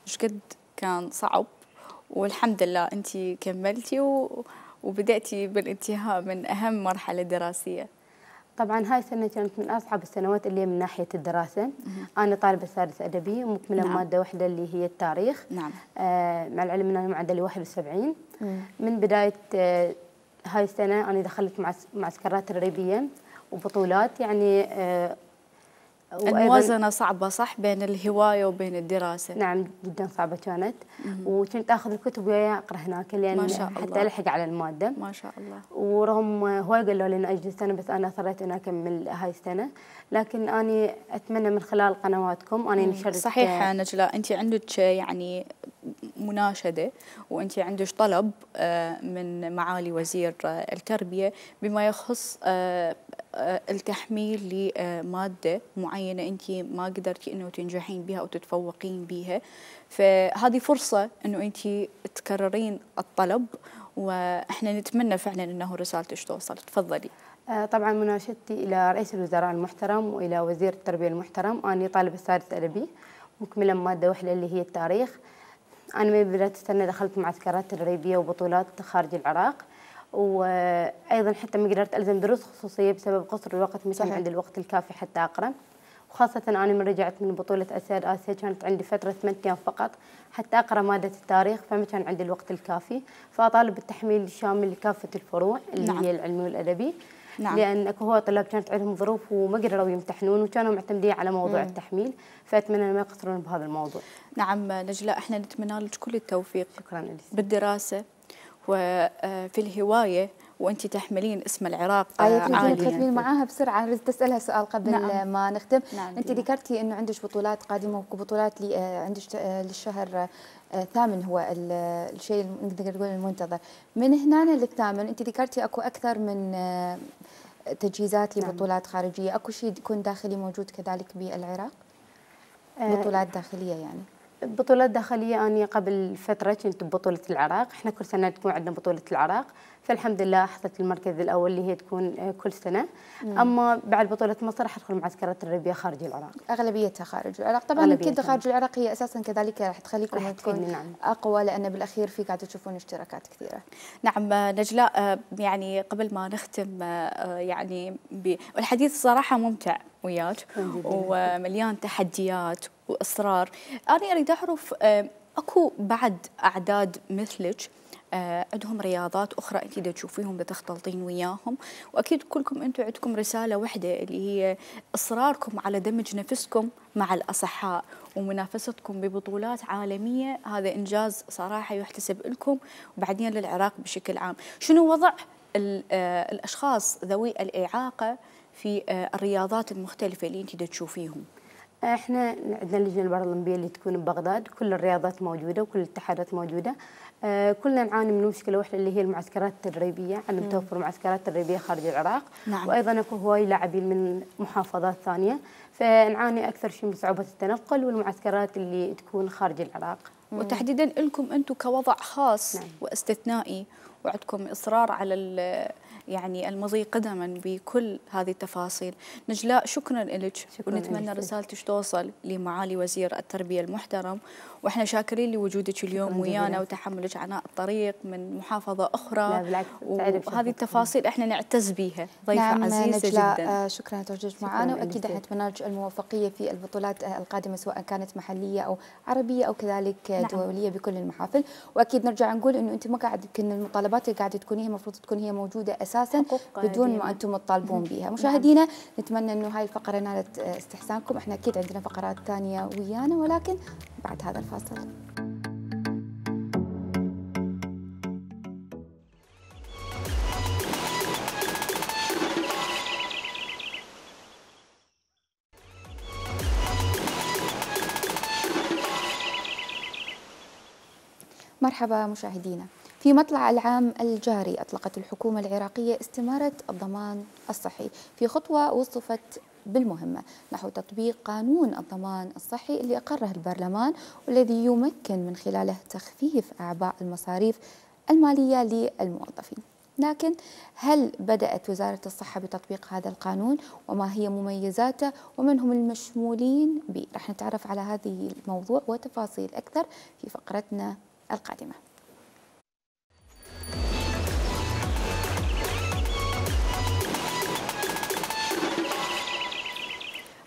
إيش قد كان صعب، والحمد لله أنت كملتي و... وبدأتي بالانتهاء من أهم مرحلة دراسية. طبعا هاي السنة كانت من أصعب السنوات اللي من ناحية الدراسة. أنا طالبة سادس أدبي ومكملة نعم. مادة واحدة اللي هي التاريخ. نعم. آه مع العلم أن أنا معدلي واحد وسبعين. من بداية آه هاي السنة أنا دخلت معسكرات تدريبية وبطولات، يعني آه الموازنة صعبة صح بين الهواية وبين الدراسة؟ نعم جدا صعبة كانت. وكنت اخذ الكتب وياي اقرا هناك لان ما شاء الله. حتى الحق على المادة. ما شاء الله. ورغم هواي قالوا لي انه اجلس سنة، بس انا اصريت اني اكمل هاي السنة. لكن اني اتمنى من خلال قنواتكم اني نشرت. صحيح نجلاء، انت عندك يعني مناشدة وانت عندك طلب من معالي وزير التربية بما يخص التحميل لمادة معينة انت ما قدرتي انه تنجحين بها او تتفوقين بها، فهذه فرصة انه انت تكررين الطلب، واحنا نتمنى فعلا انه رسالتك توصل. تفضلي. طبعا مناشدتي الى رئيس الوزراء المحترم والى وزير التربية المحترم. اني طالبة سادس ادبي مكملة مادة واحدة اللي هي التاريخ. انا من بداية السنة دخلت معسكرات تدريبية وبطولات خارج العراق، وايضا حتى ما قدرت الزم دروس خصوصيه بسبب قصر الوقت، ما كان عندي الوقت الكافي حتى اقرا. وخاصه انا من رجعت من بطوله اسياد اسيا كانت عندي فتره ثمانية ايام فقط حتى اقرا ماده التاريخ، فما كان عندي الوقت الكافي. فاطالب بالتحميل الشامل لكافه الفروع اللي نعم. هي العلمي والادبي. نعم. لان اكو هو طلاب كانت عندهم ظروف وما قدروا يمتحنون وكانوا معتمدين على موضوع مم. التحميل، فاتمنى ما يقصرون بهذا الموضوع. نعم نجلاء، احنا نتمنى لك كل التوفيق. شكرا لك. بالدراسه وفي الهواية، وأنت تحملين اسم العراق عاليا. أيوة تختمين معاها بسرعة، أريد أسألها سؤال قبل نعم. ما نختم. نعم. أنت ذكرتي إنه عندك بطولات قادمة وبطولات لي عندك للشهر الثامن هو الشيء نقدر نقول المنتظر. من هنا للثامن أنت ذكرتي أكو أكثر من تجهيزات لبطولات نعم. خارجية، أكو شيء يكون داخلي موجود كذلك بالعراق؟ بطولات داخلية يعني؟ بطولات داخلية. أنا قبل فترة كنت ببطولة العراق، إحنا كل سنة تكون عندنا بطولة العراق، فالحمد لله حصلت المركز الأول اللي هي تكون كل سنة. مم. أما بعد بطولة مصر راح أدخل معسكرات تدريبية خارج العراق. أغلبيتها خارج العراق طبعا. أكيد خارج العراق هي أساسا كذلك راح تخليكم تكون نعم. أقوى، لأن بالأخير في قاعدة تشوفون اشتراكات كثيرة. نعم نجلاء، يعني قبل ما نختم يعني الحديث صراحة ممتع وياك ومليان تحديات واصرار. انا اريد اعرف اكو بعد اعداد مثلك عندهم رياضات اخرى انت دا تشوفيهم دا تختلطين وياهم، واكيد كلكم انتم عندكم رساله واحده اللي هي اصراركم على دمج نفسكم مع الاصحاء ومنافستكم ببطولات عالميه. هذا انجاز صراحه يحتسب لكم وبعدين للعراق بشكل عام. شنو وضع الاشخاص ذوي الاعاقه في الرياضات المختلفه اللي انت دا تشوفيهم؟ احنا عندنا اللجنه البارالمبيه اللي تكون ببغداد، كل الرياضات موجوده وكل الاتحادات موجوده. آه كلنا نعاني من مشكله واحده اللي هي المعسكرات التدريبيه، عدم توفر معسكرات تدريبيه خارج العراق. نعم. وايضا اكو هواي لاعبين من محافظات ثانيه، فنعاني اكثر شيء من صعوبه التنقل والمعسكرات اللي تكون خارج العراق. وتحديدا لكم انتم كوضع خاص. نعم. واستثنائي وعندكم إصرار على يعني المضي قدما بكل هذه التفاصيل. نجلاء شكرا لك، ونتمنى رسالتك توصل لمعالي وزير التربية المحترم، واحنا شاكرين لوجودك اليوم ويانا وتحملك عناء الطريق من محافظة أخرى، وهذه التفاصيل احنا نعتز بها. ضيفة نعم عزيزة جدا. شكرا لتواجدك معنا، واكيد احنا نتمنى لك الموفقية في البطولات القادمة سواء كانت محلية او عربية او كذلك نعم. دولية بكل المحافل. واكيد نرجع نقول انه انت ما قاعد يمكن المطالبات اللي قاعده تكونيها المفروض تكون هي موجودة اساسا بدون ما انتم تطالبون بها. مشاهدينا نعم. نتمنى انه هاي الفقرة نالت استحسانكم. احنا اكيد عندنا فقرات ثانية ويانا، ولكن بعد هذا الفاصل. مرحبا مشاهدينا. في مطلع العام الجاري أطلقت الحكومة العراقية استمارة الضمان الصحي في خطوة وصفت بالمهمة نحو تطبيق قانون الضمان الصحي اللي أقره البرلمان، والذي يمكن من خلاله تخفيف أعباء المصاريف المالية للموظفين. لكن هل بدأت وزارة الصحة بتطبيق هذا القانون، وما هي مميزاته، ومن هم المشمولين به؟ رح نتعرف على هذه الموضوع وتفاصيل أكثر في فقرتنا القادمة.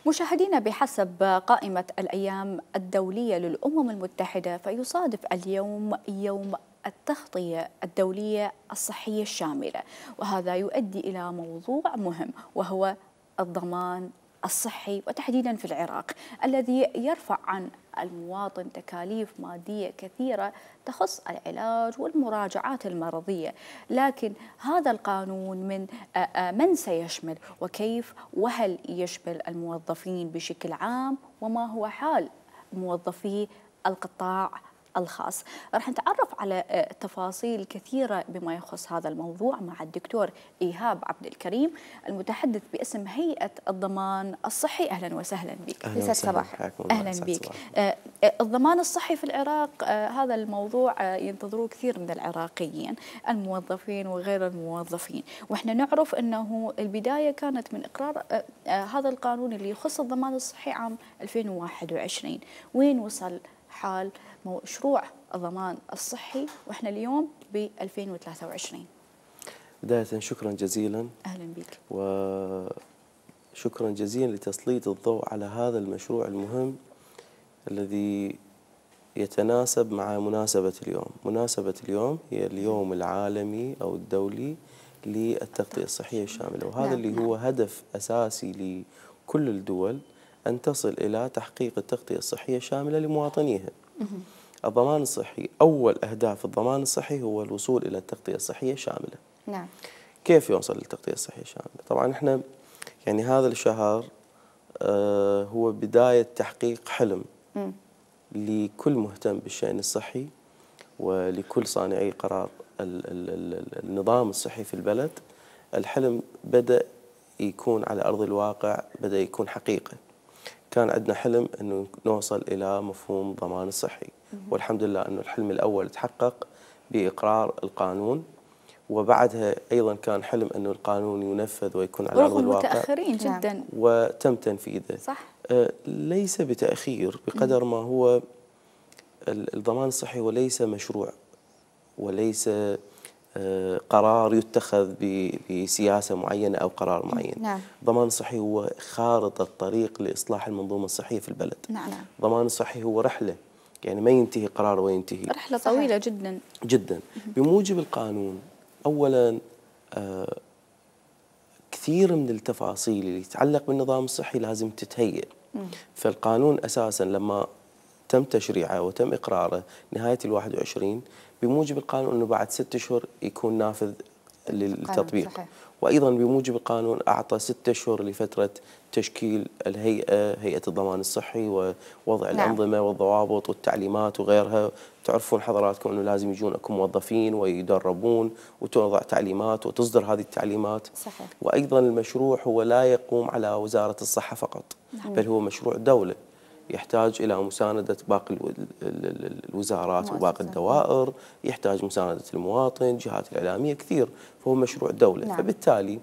مشاهدينا، بحسب قائمة الأيام الدولية للأمم المتحدة فيصادف اليوم يوم التغطية الدولية الصحية الشاملة، وهذا يؤدي إلى موضوع مهم وهو الضمان الصحي، وتحديدا في العراق الذي يرفع عن المواطن تكاليف مادية كثيرة تخص العلاج والمراجعات المرضية. لكن هذا القانون من من سيشمل، وكيف، وهل يشمل الموظفين بشكل عام، وما هو حال موظفي القطاع الخاص؟ راح نتعرف على تفاصيل كثيرة بما يخص هذا الموضوع مع الدكتور إيهاب عبد الكريم المتحدث باسم هيئة الضمان الصحي. أهلا وسهلا بك. أهلا صباح. أهلا بك. آه الضمان الصحي في العراق، آه هذا الموضوع آه ينتظروه كثير من العراقيين الموظفين وغير الموظفين، وإحنا نعرف أنه البداية كانت من إقرار آه آه هذا القانون اللي يخص الضمان الصحي عام ألفين وواحد وعشرين. وين وصل حال مشروع الضمان الصحي واحنا اليوم ب ألفين وثلاثة وعشرين؟ بداية شكرا جزيلا. اهلا بك. وشكرا جزيلا لتسليط الضوء على هذا المشروع المهم الذي يتناسب مع مناسبة اليوم. مناسبة اليوم هي اليوم العالمي أو الدولي للتغطية الصحية الشاملة، وهذا نعم. اللي هو هدف أساسي لكل الدول أن تصل إلى تحقيق التغطية الصحية الشاملة لمواطنيها. الضمان الصحي، أول أهداف الضمان الصحي هو الوصول إلى التغطية الصحية الشاملة. نعم. كيف يوصل للتغطية الصحية الشاملة؟ طبعا احنا يعني هذا الشهر آه هو بداية تحقيق حلم م. لكل مهتم بالشأن الصحي ولكل صانعي قرار ال ال ال النظام الصحي في البلد. الحلم بدأ يكون على أرض الواقع، بدأ يكون حقيقة. كان عندنا حلم أنه نوصل إلى مفهوم ضمان الصحي، والحمد لله أنه الحلم الأول تحقق بإقرار القانون، وبعدها أيضا كان حلم أنه القانون ينفذ ويكون على أرض الواقع. متأخرين جدا. وتم تنفيذه. صح. آه ليس بتأخير بقدر ما هو الضمان الصحي وليس مشروع وليس آه قرار يتخذ بسياسة معينة أو قرار معين. نعم. الضمان الصحي هو خارطة الطريق لإصلاح المنظومة الصحية في البلد. نعم. الضمان الصحي هو رحلة، يعني ما ينتهي قرار وينتهي. رحلة طويلة جدا جدا. بموجب القانون أولا آه كثير من التفاصيل اللي تتعلق بالنظام الصحي لازم تتهيئ. فالقانون أساسا لما تم تشريعه وتم إقراره نهاية الواحد وعشرين، بموجب القانون أنه بعد ست أشهر يكون نافذ للتطبيق. صحيح. وأيضا بموجب القانون أعطى ستة أشهر لفترة تشكيل الهيئة، هيئة الضمان الصحي، ووضع نعم. الأنظمة والضوابط والتعليمات وغيرها. تعرفون حضراتكم أنه لازم يجون أكو موظفين ويدربون وتوضع تعليمات وتصدر هذه التعليمات. صحيح. وأيضا المشروع هو لا يقوم على وزارة الصحة فقط، نعم. بل هو مشروع دولة. يحتاج إلى مساندة باقي الوزارات وباقي الدوائر، يحتاج مساندة المواطن، الجهات الإعلامية كثير، فهو مشروع دولة. نعم. فبالتالي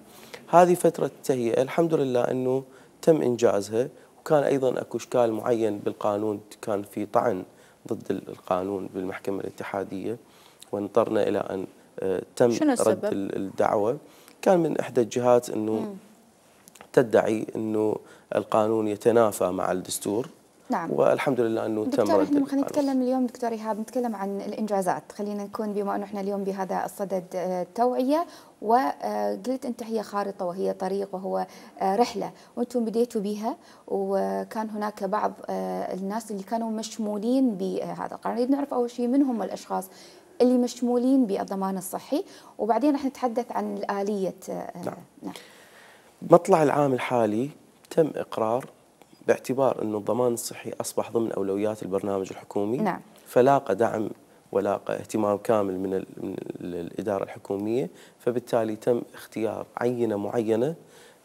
هذه فترة التهيئة الحمد لله أنه تم إنجازها، وكان أيضا أكو إشكال معين بالقانون، كان في طعن ضد القانون بالمحكمة الاتحادية، وانطرنا إلى أن تم رد الدعوة. كان من إحدى الجهات أنه مم. تدعي أنه القانون يتنافى مع الدستور. نعم. والحمد لله أنه تم رد القانون. خلينا نتكلم اليوم دكتور إيهاب، نتكلم عن الإنجازات، خلينا نكون بما أنه إحنا اليوم بهذا الصدد توعية، وقلت أنت هي خارطة وهي طريق وهو رحلة وأنتم بديتوا بها، وكان هناك بعض الناس اللي كانوا مشمولين بهذا القانون. نريد نعرف أول شيء من هم الأشخاص اللي مشمولين بالضمان الصحي، وبعدين راح نتحدث عن الآلية. نعم. نعم. مطلع العام الحالي تم إقرار باعتبار أن الضمان الصحي أصبح ضمن أولويات البرنامج الحكومي. نعم. فلاقى دعم ولاقى اهتمام كامل من, من الإدارة الحكومية، فبالتالي تم اختيار عينة معينة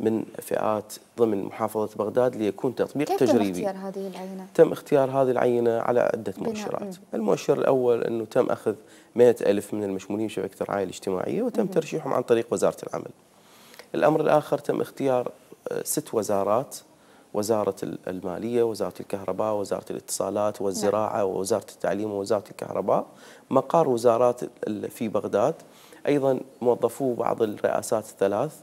من فئات ضمن محافظة بغداد ليكون تطبيق كيف تجريبي. كيف تم اختيار هذه العينة؟ تم اختيار هذه العينة على عدة مؤشرات. المؤشر الأول أنه تم أخذ مئة ألف من المشمولين بشبكة الرعاية الاجتماعية وتم ترشيحهم عن طريق وزارة العمل. الأمر الآخر تم اختيار ست وزارات: وزارة المالية، وزارة الكهرباء، وزارة الاتصالات والزراعة، ووزارة التعليم، ووزارة الكهرباء، مقار وزارات في بغداد. أيضا موظفو بعض الرئاسات الثلاث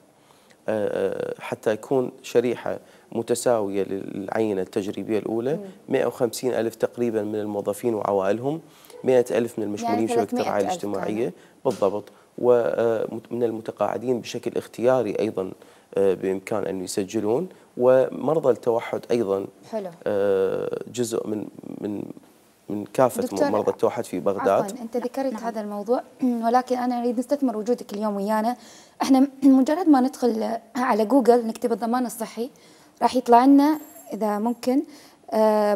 حتى يكون شريحة متساوية للعينة التجريبية الأولى. مئة وخمسين ألف تقريبا من الموظفين وعوائلهم، مئة ألف من المشمولين يعني بشبكة الرعاية الاجتماعية بالضبط، ومن المتقاعدين بشكل اختياري أيضا بإمكان أن يسجلون، ومرضى التوحد أيضا. حلو. جزء من من من كافة مرضى التوحد في بغداد. عفوا أنت ذكرت نعم. هذا الموضوع، ولكن أنا أريد نستثمر وجودك اليوم ويانا. احنا مجرد ما ندخل على جوجل نكتب الضمان الصحي راح يطلع لنا إذا ممكن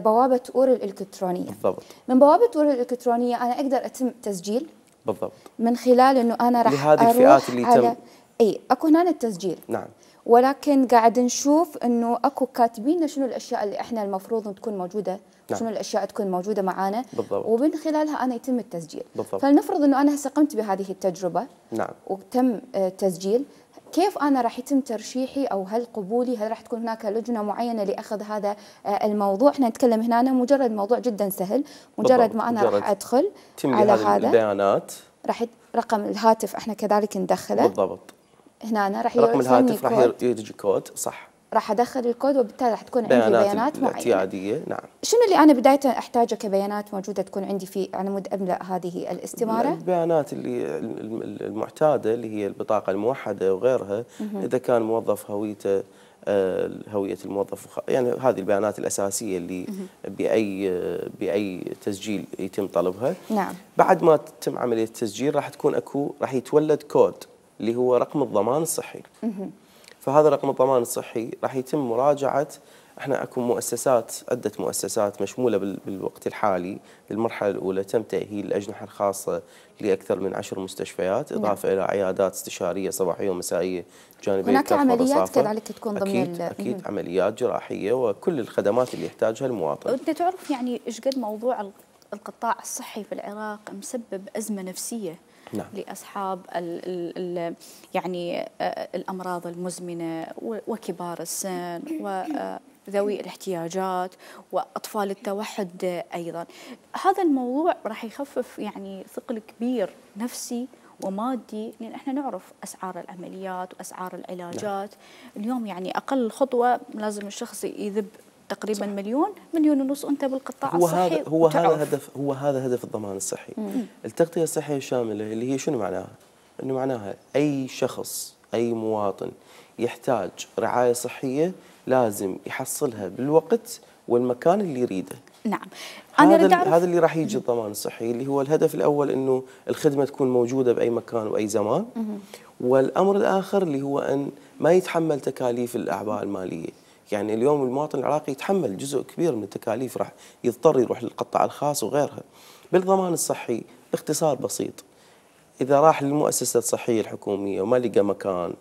بوابة أور الإلكترونية. بالضبط. من بوابة أور الإلكترونية أنا أقدر أتم تسجيل. بالضبط. من خلال إنه أنا راح لهذه الفئات اللي على تم أي أكو هنا التسجيل. نعم. ولكن قاعد نشوف انه اكو كاتبين شنو الاشياء اللي احنا المفروض تكون موجوده. نعم. شنو الاشياء تكون موجوده معانا. بالضبط. ومن خلالها انا يتم التسجيل. بالضبط. فلنفرض انه انا هسه قمت بهذه التجربه. نعم. وتم تسجيل، كيف انا راح يتم ترشيحي او هل قبولي؟ هل راح تكون هناك لجنه معينه لاخذ هذا الموضوع؟ احنا نتكلم هنا مجرد موضوع جدا سهل، مجرد بالضبط. ما انا راح ادخل على هذا البيانات، راح رقم الهاتف احنا كذلك ندخله. بالضبط. هنا أنا راح رقم الهاتف راح يجي كود، صح، راح ادخل الكود وبالتالي راح تكون عندي بيانات اعتياديه. نعم. شنو اللي انا بدايه احتاجه كبيانات موجوده تكون عندي في على مود املا هذه الاستماره؟ البيانات اللي المعتاده اللي هي البطاقه الموحده وغيرها. اذا كان موظف هويته هويه الموظف، يعني هذه البيانات الاساسيه اللي باي باي تسجيل يتم طلبها. نعم. بعد ما تتم عمليه التسجيل راح تكون اكو راح يتولد كود اللي هو رقم الضمان الصحي. فهذا رقم الضمان الصحي راح يتم مراجعة. احنا اكو مؤسسات، عدة مؤسسات مشمولة بالوقت الحالي. بالمرحلة الأولى تم تأهيل الأجنحة الخاصة لأكثر من عشر مستشفيات، إضافة نعم. إلى عيادات استشارية صباحية ومسائية جانبية. هناك عمليات كذلك تكون ضمن أكيد, أكيد عمليات جراحية وكل الخدمات اللي يحتاجها المواطن. أنت تعرف يعني إيش قد موضوع القطاع الصحي في العراق مسبب أزمة نفسية. نعم. لأصحاب ال ال ال يعني الأمراض المزمنة وكبار السن وذوي الاحتياجات وأطفال التوحد أيضا. هذا الموضوع راح يخفف يعني ثقل كبير نفسي ومادي، لأن احنا نعرف أسعار العمليات وأسعار العلاجات. نعم. اليوم يعني أقل خطوة لازم الشخص يذب تقريبا مليون مليون ونص انت بالقطاع هو الصحي. هذا هو هذا هدف هو هذا هدف الضمان الصحي. مم. التغطيه الصحيه الشامله اللي هي شنو معناها؟ انه معناها اي شخص اي مواطن يحتاج رعايه صحيه لازم يحصلها بالوقت والمكان اللي يريده. نعم. انا هذا هذا اللي راح يجي الضمان الصحي، اللي هو الهدف الاول انه الخدمه تكون موجوده باي مكان واي زمان. مم. والامر الاخر اللي هو ان ما يتحمل تكاليف الاعباء الماليه. يعني اليوم المواطن العراقي يتحمل جزء كبير من التكاليف، راح يضطر يروح للقطاع الخاص وغيرها. بالضمان الصحي باختصار بسيط، اذا راح للمؤسسه الصحيه الحكوميه وما لقى مكان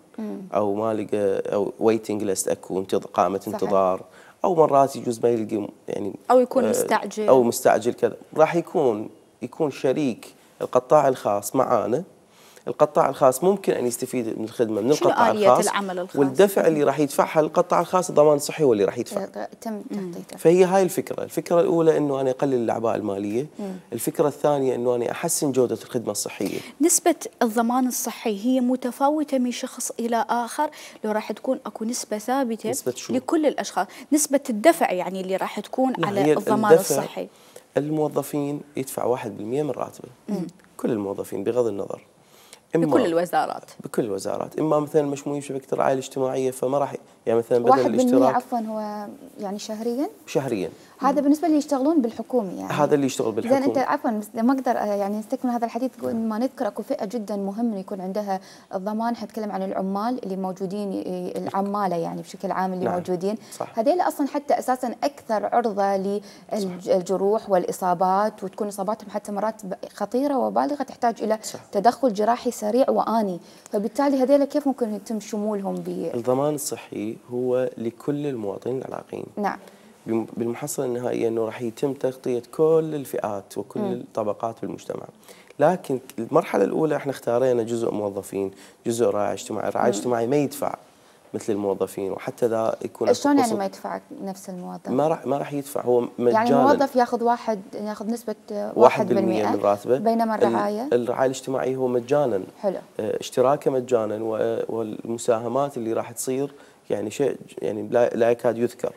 او ما لقى او ويتنج ليست، اكو قائمه انتظار او مرات يجوز ما يلقي يعني او يكون مستعجل او مستعجل كذا، راح يكون يكون شريك القطاع الخاص معانا. القطاع الخاص ممكن ان يستفيد من الخدمه من القطاع آلية الخاص، العمل الخاص؟ والدفع اللي راح يدفعها للقطاع الخاص الضمان الصحي هو اللي راح يدفع. تم تغطيته. فهي هاي الفكره، الفكره الاولى انه انا اقلل الاعباء الماليه، مم. الفكره الثانيه انه انا احسن جوده الخدمه الصحيه. نسبه الضمان الصحي هي متفاوته من شخص الى اخر، لو راح تكون اكو نسبه ثابته نسبة شو؟ لكل الاشخاص، نسبه الدفع يعني اللي راح تكون على الضمان الصحي. الموظفين يدفع واحد بالمئة من راتبه، مم. كل الموظفين بغض النظر، بكل الوزارات بكل الوزارات. اما مثلا مشمولين بشبكه الرعايه الاجتماعيه فما راح يعني مثلا بدل واحد الاشتراك عفوا هو يعني شهريا شهريا هذا بالنسبه اللي يشتغلون بالحكومه يعني هذا اللي يشتغل بالحكومه. زين انت عفوا ما اقدر يعني نستكمل هذا الحديث ما نذكر اكو فئه جدا مهم يكون عندها الضمان. حنتكلم عن العمال اللي موجودين، العماله يعني بشكل عام اللي نعم. موجودين هذول اصلا حتى اساسا اكثر عرضه للجروح والاصابات، وتكون اصاباتهم حتى مرات خطيره وبالغه تحتاج الى صح. تدخل جراحي سريع وآني، فبالتالي هذول كيف ممكن يتم شمولهم ب الضمان الصحي هو لكل المواطنين العراقيين. نعم. بالمحصلة النهائية أنه راح يتم تغطية كل الفئات وكل م. الطبقات بالمجتمع، لكن المرحلة الأولى احنا اختارينا جزء موظفين، جزء رعاية اجتماعي، الرعاية الاجتماعي ما يدفع مثل الموظفين، وحتى ذا يكون شلون يعني ما يدفع نفس الموظف؟ ما راح ما راح يدفع، هو مجانا. يعني الموظف ياخذ واحد ياخذ نسبة واحد بالمئة من راتبه، بينما الرعاية الرعاية الاجتماعية هو مجانا. حلو. اشتراكه مجانا، والمساهمات اللي راح تصير يعني شيء يعني لا يكاد يذكر.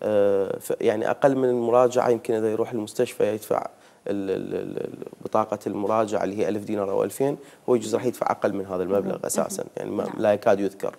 آه يعني اقل من المراجعه، يمكن اذا يروح المستشفى يدفع بطاقه المراجعه اللي هي ألف دينار او ألفين، هو يجوز راح يدفع اقل من هذا المبلغ اساسا، يعني ما لا يكاد يذكر.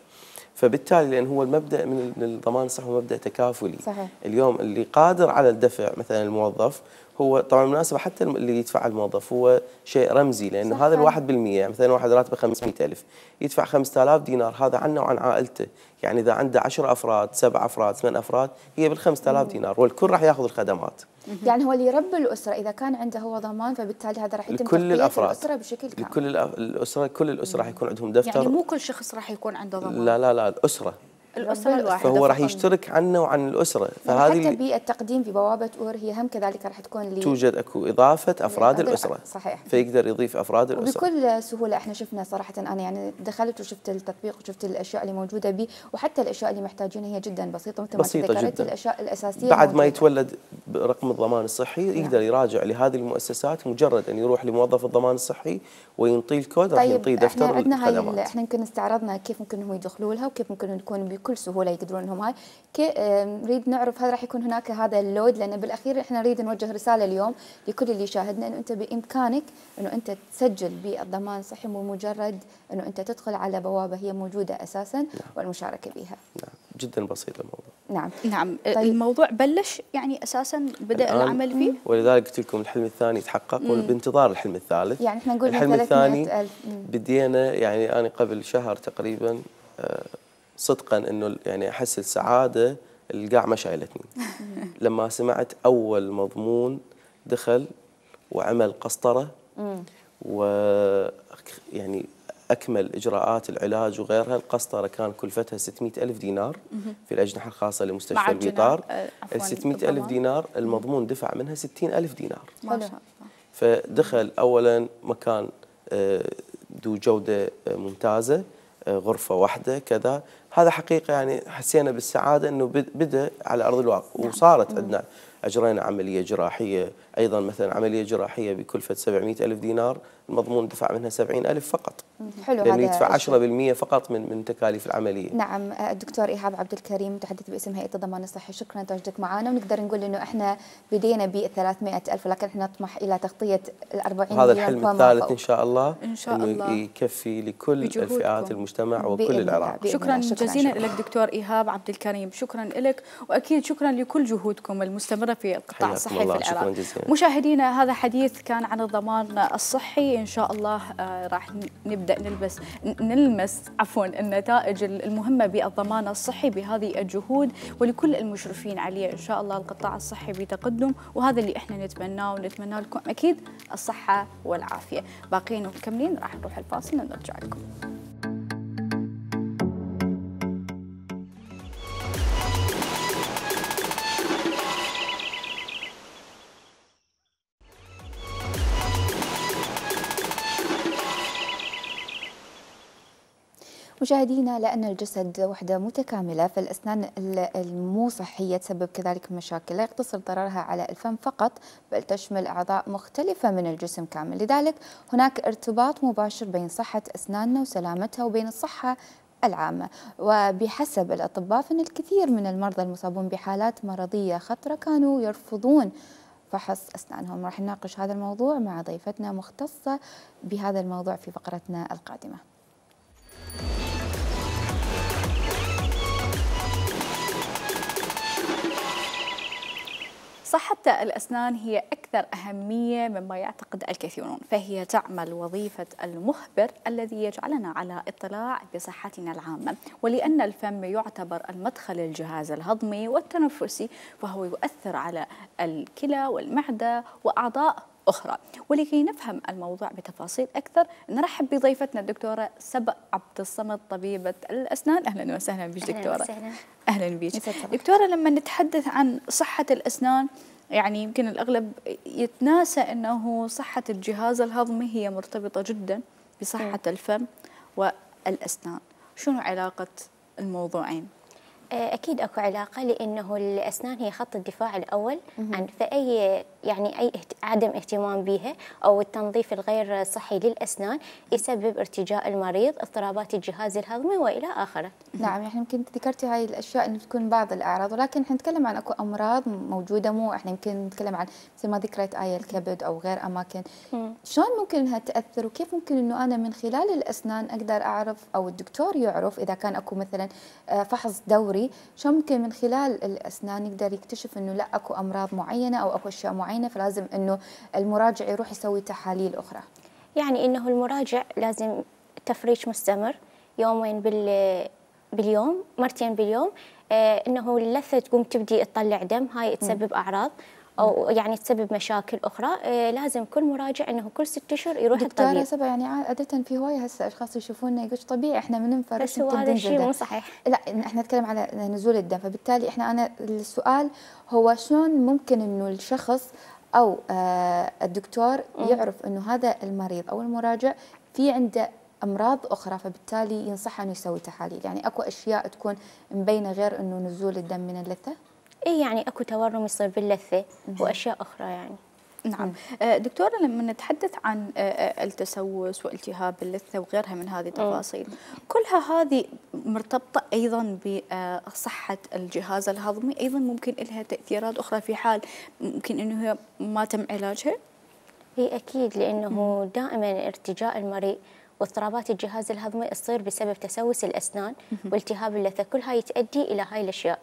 فبالتالي لان هو المبدا من الضمان الصحي هو مبدا تكافلي. صحيح. اليوم اللي قادر على الدفع مثلا الموظف، هو طبعا بالمناسبه حتى اللي يدفع الموظف هو شيء رمزي، لانه صحيح. هذا الواحد بالمئة يعني مثلا واحد راتبه خمسمئة ألف يدفع خمسة آلاف دينار، هذا عنه وعن عائلته، يعني اذا عنده عشرة افراد سبع افراد ثمان افراد هي بال خمسة آلاف دينار، والكل راح ياخذ الخدمات. يعني هو اللي يربي الاسره اذا كان عنده هو ضمان، فبالتالي هذا راح يتم لكل الافراد الاسره بشكل كامل. لكل الاسره كل الاسره راح يكون عندهم دفتر. يعني مو كل شخص راح يكون عنده ضمان. لا لا لا الاسره الأسرة الواحدة، فهو راح يشترك عنه وعن الأسرة. فهذه حتى بالتقديم في بوابة أور هي هم كذلك راح تكون لي توجد أكو إضافة أفراد الأسرة. صحيح. فيقدر يضيف أفراد الأسرة بكل سهولة. احنا شفنا صراحة، أنا يعني دخلت وشفت التطبيق وشفت الأشياء اللي موجودة به، وحتى الأشياء اللي محتاجينها هي جدا بسيطة، مثل ما ذكرت الأشياء الأساسية بعد موجودة. ما يتولد رقم الضمان الصحي يقدر نعم. يراجع لهذه المؤسسات، مجرد أن يروح لموظف الضمان الصحي وينطيه الكود طيب راح ينطيه دفتر احنا عندنا الخدمات. هاي احنا يمكن استعرضنا كيف ممكن هم يدخلوا لها وكيف ممكن يكون بكل سهولة يقدرون انهم هاي نريد نعرف هل راح يكون هناك هذا اللود، لان بالاخير احنا نريد نوجه رساله اليوم لكل اللي يشاهدنا انه انت بامكانك انه انت تسجل بالضمان الصحي، بمجرد انه انت تدخل على بوابه هي موجوده اساسا نعم. والمشاركه بها. نعم جدا بسيط الموضوع. نعم نعم. طيب. الموضوع بلش يعني اساسا بدا العمل فيه، ولذلك قلت لكم الحلم الثاني تحقق وبانتظار الحلم الثالث. يعني احنا نقول الحلم الثاني بدينا يعني انا قبل شهر تقريبا آه صدقا انه يعني احس السعاده القاع ما شايلتني لما سمعت اول مضمون دخل وعمل قسطره و يعني اكمل اجراءات العلاج وغيرها. القسطره كان كلفتها ستمئة ألف دينار في الاجنحه الخاصه لمستشفى البيطار. ال ستمئة ألف دينار المضمون دفع منها ستين ألف دينار. ما فدخل اولا مكان ذو جوده ممتازه، غرفة واحدة كذا. هذا حقيقة يعني حسينا بالسعادة أنه بدأ على أرض الواقع. وصارت عندنا أجرينا عملية جراحية أيضا، مثلا عملية جراحية بكلفة سبعمئة ألف دينار المضمون دفع منها سبعين ألف فقط. حلو. لأنه يدفع عشرة بالمئة فقط من من تكاليف العملية. نعم. الدكتور إيهاب عبد الكريم متحدث باسم هيئة الضمان الصحي، شكرا لتواجدك معنا. ونقدر نقول إنه إحنا بدينا ب ثلاثمئة ألف، ولكن إحنا نطمح إلى تغطية الأربعين مليون. هذا الحلم الثالث إن شاء الله، إن شاء إنه الله يكفي لكل الفئات المجتمع وكل العراق. شكرا جزيلا لك دكتور إيهاب عبد الكريم، شكرا لك، وأكيد شكرا لكل جهودكم المستمرة في القطاع الصحي في العراق. مشاهدينا هذا حديث كان عن الضمان الصحي. إن شاء الله راح نبدأ نلبس نلمس عفوا النتائج المهمة بالضمان الصحي بهذه الجهود، ولكل المشرفين عليه إن شاء الله القطاع الصحي بتقدم، وهذا اللي احنا نتمناه، ونتمنى لكم أكيد الصحة والعافية. باقيين ومكملين، راح نروح الفاصل ونرجع لكم. مشاهدينا، لأن الجسد وحدة متكاملة، فالأسنان المو صحية تسبب كذلك مشاكل لا يقتصر ضررها على الفم فقط، بل تشمل أعضاء مختلفة من الجسم كامل. لذلك هناك ارتباط مباشر بين صحة أسناننا وسلامتها وبين الصحة العامة. وبحسب الأطباء فإن الكثير من المرضى المصابون بحالات مرضية خطرة كانوا يرفضون فحص أسنانهم. راح نناقش هذا الموضوع مع ضيفتنا مختصة بهذا الموضوع في فقرتنا القادمة. صحة الأسنان هي أكثر أهمية مما يعتقد الكثيرون، فهي تعمل وظيفة المخبر الذي يجعلنا على اطلاع بصحتنا العامة. ولأن الفم يعتبر المدخل للجهاز الهضمي والتنفسي، فهو يؤثر على الكلى والمعدة وأعضاء أخرى. ولكي نفهم الموضوع بتفاصيل أكثر نرحب بضيفتنا الدكتورة سبأ عبد الصمد، طبيبة الأسنان. أهلا وسهلا بك دكتورة. أهلا, أهلا بك دكتورة. لما نتحدث عن صحة الأسنان يعني يمكن الأغلب يتناسى أنه صحة الجهاز الهضمي هي مرتبطة جدا بصحة الفم والأسنان. شنو علاقة الموضوعين؟ أكيد أكو علاقة، لأنه الأسنان هي خط الدفاع الأول عن فأي يعني أي عدم اهتمام بها أو التنظيف الغير صحي للأسنان يسبب ارتجاء المريض، اضطرابات الجهاز الهضمي وإلى آخره. نعم، يعني يمكن ذكرتي هاي الأشياء إنه تكون بعض الأعراض، ولكن احنا نتكلم عن أكو أمراض موجودة، مو احنا يمكن نتكلم عن مثل ما ذكرت آية الكبد أو غير أماكن. مم. شلون ممكن إنها تأثر، وكيف ممكن إنه أنا من خلال الأسنان أقدر أعرف أو الدكتور يعرف إذا كان أكو مثلا فحص دوري، شلون ممكن من خلال الأسنان يقدر يكتشف إنه لا أكو أمراض معينة أو أكو أشياء معينة فلازم إنه المراجع يروح يسوي تحاليل أخرى؟ يعني إنه المراجع لازم تفريش مستمر يومين بال باليوم، مرتين باليوم. آه إنه اللثة تقوم تبدي تطلع دم، هاي تسبب أعراض أو يعني تسبب مشاكل أخرى. آه لازم كل مراجع إنه كل ست أشهر يروح الطبيب. دكتورة سبا، يعني عادة في هواية هسه أشخاص يشوفونا يقول طبيعي إحنا من ننفرش، بس هو هذا الشيء مو صحيح. لا، إحنا نتكلم على نزول الدم، فبالتالي إحنا أنا السؤال هو شلون ممكن إنه الشخص أو آه الدكتور يعرف إنه هذا المريض أو المراجع في عنده أمراض أخرى، فبالتالي ينصح أنه يسوي تحاليل. يعني أكو أشياء تكون مبينة غير أنه نزول الدم من اللثة؟ إيه، يعني أكو تورم يصير باللثة وأشياء أخرى يعني. نعم. دكتورة، لما نتحدث عن التسوس والتهاب اللثة وغيرها من هذه التفاصيل، كلها هذه مرتبطة أيضا بصحة الجهاز الهضمي، أيضا ممكن لها تأثيرات أخرى في حال ممكن أنه هي ما تم علاجها؟ هي أكيد، لأنه دائما ارتجاء المريء واضطرابات الجهاز الهضمي تصير بسبب تسوس الأسنان والتهاب اللثة، كل هاي تؤدي إلى هاي الأشياء.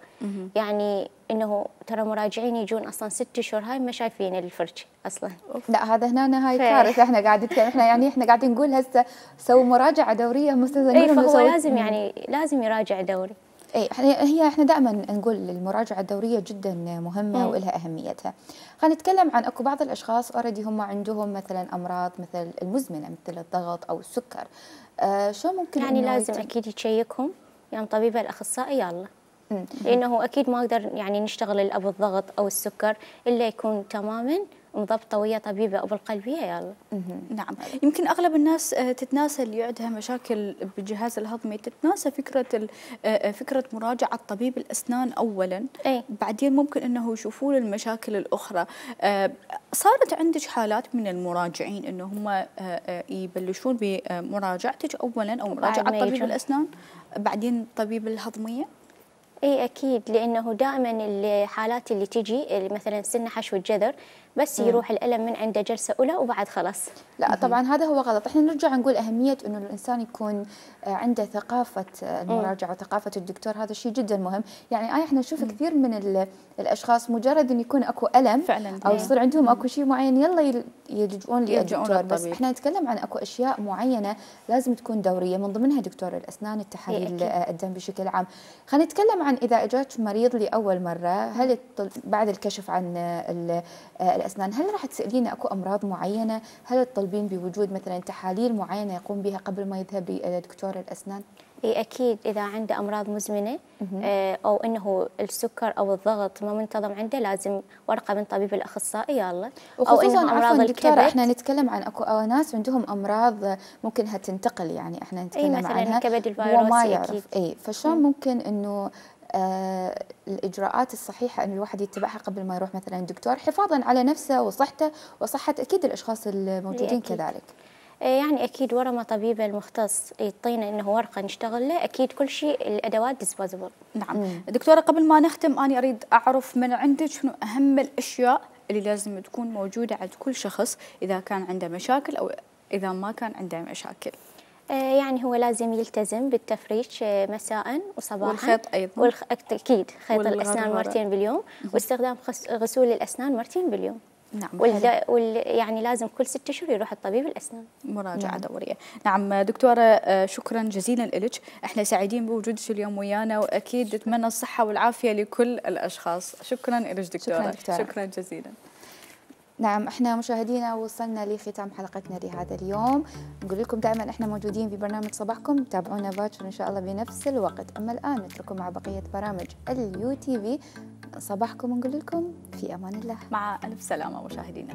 يعني إنه ترى مراجعين يجون أصلا ست شهور هاي ما شايفين الفرج أصلا. لا، هذا هنا هاي كارثة. احنا قاعدين احنا يعني احنا قاعدين نقول هسه سووا مراجعة دورية مستاذ. اي، فهو لازم يعني لازم يراجع دوري. اي، هي احنا دائما نقول المراجعه الدوريه جدا مهمه مم. ولها اهميتها. خلينا نتكلم عن اكو بعض الاشخاص اوريدي هم عندهم مثلا امراض مثل المزمنه مثل الضغط او السكر. آه شو ممكن يعني لازم يتم؟ اكيد يشيكهم يعني طبيبه الاخصائي يلا، لانه اكيد ما اقدر يعني نشتغل ابو الضغط او السكر الا يكون تماما مضبطه ويا طبيبه ابو القلبيه يلا. نعم، يمكن اغلب الناس تتناسى اللي عندها مشاكل بالجهاز الهضمي، تتناسى فكره فكره مراجعه طبيب الاسنان اولا، أي. بعدين ممكن انه يشوفون المشاكل الاخرى. صارت عندك حالات من المراجعين انه هم يبلشون بمراجعتك اولا او مراجعه طبيب الاسنان بعدين طبيب الهضميه؟ اي اكيد، لانه دائما الحالات اللي تجي مثلا سن حشو الجذر بس يروح الألم من عنده جلسة أولى وبعد خلاص. لا طبعا هذا هو غلط. احنا نرجع نقول أهمية إنه الإنسان يكون عنده ثقافة المراجعة وثقافة الدكتور، هذا شيء جدا مهم. يعني آه احنا نشوف كثير من الأشخاص مجرد إن يكون أكو ألم فعلا أو يصير عندهم أكو شيء معين يلا يلجؤون للدكتور، بس احنا نتكلم عن أكو أشياء معينة لازم تكون دورية، من ضمنها دكتور الأسنان، التحاليل الدم بشكل عام. خلينا نتكلم عن إذا اجاك مريض لأول مرة، هل بعد الكشف عن الأسنان، هل راح تسألينا أكو أمراض معينة؟ هل تطلبين بوجود مثلا تحاليل معينة يقوم بها قبل ما يذهب لدكتور الأسنان؟ إيه أكيد، إذا عنده أمراض مزمنة آه أو أنه السكر أو الضغط ما منتظم عنده لازم ورقة من طبيب الأخصائي يلا. أو إنه أمراض دكتورة إحنا نتكلم عن أكو ناس عندهم أمراض ممكنها تنتقل، يعني إحنا نتكلم أي مثلاً عنها كبد الفيروسي وما أكيد. يعرف. أي فشلون ممكن إنه آه الإجراءات الصحيحة أن الواحد يتبعها قبل ما يروح مثلا دكتور، حفاظا على نفسه وصحته وصحة أكيد الأشخاص الموجودين كذلك؟ يعني أكيد ورا ما طبيب المختص يعطينا إنه ورقة نشتغل له، أكيد كل شيء الأدوات ديسبوزبل. نعم. مم. دكتورة قبل ما نختم أنا أريد أعرف من عندك شنو أهم الأشياء اللي لازم تكون موجودة عند كل شخص إذا كان عنده مشاكل أو إذا ما كان عنده مشاكل. يعني هو لازم يلتزم بالتفريش مساء وصباحا، والخيط أيضا، والخ... أكيد خيط الأسنان مرتين باليوم، واستخدام خس... غسول الأسنان مرتين باليوم. نعم. والد... وال... يعني لازم كل ست اشهر يروح الطبيب الاسنان مراجعه نعم. دوريه. نعم دكتوره شكرا جزيلا لك، احنا سعيدين بوجودك اليوم ويانا، واكيد نتمنى الصحه والعافيه لكل الاشخاص. شكرا لك دكتوره. شكرا, دكتورة. شكرا جزيلا. نعم احنا مشاهدينا وصلنا لختام حلقتنا لهذا اليوم، نقول لكم دائما احنا موجودين في برنامج صباحكم، تابعونا باكر ان شاء الله بنفس الوقت، اما الان نترككم مع بقيه برامج اليو تي في صباحكم، ونقول لكم في امان الله، مع الف سلامه مشاهدينا.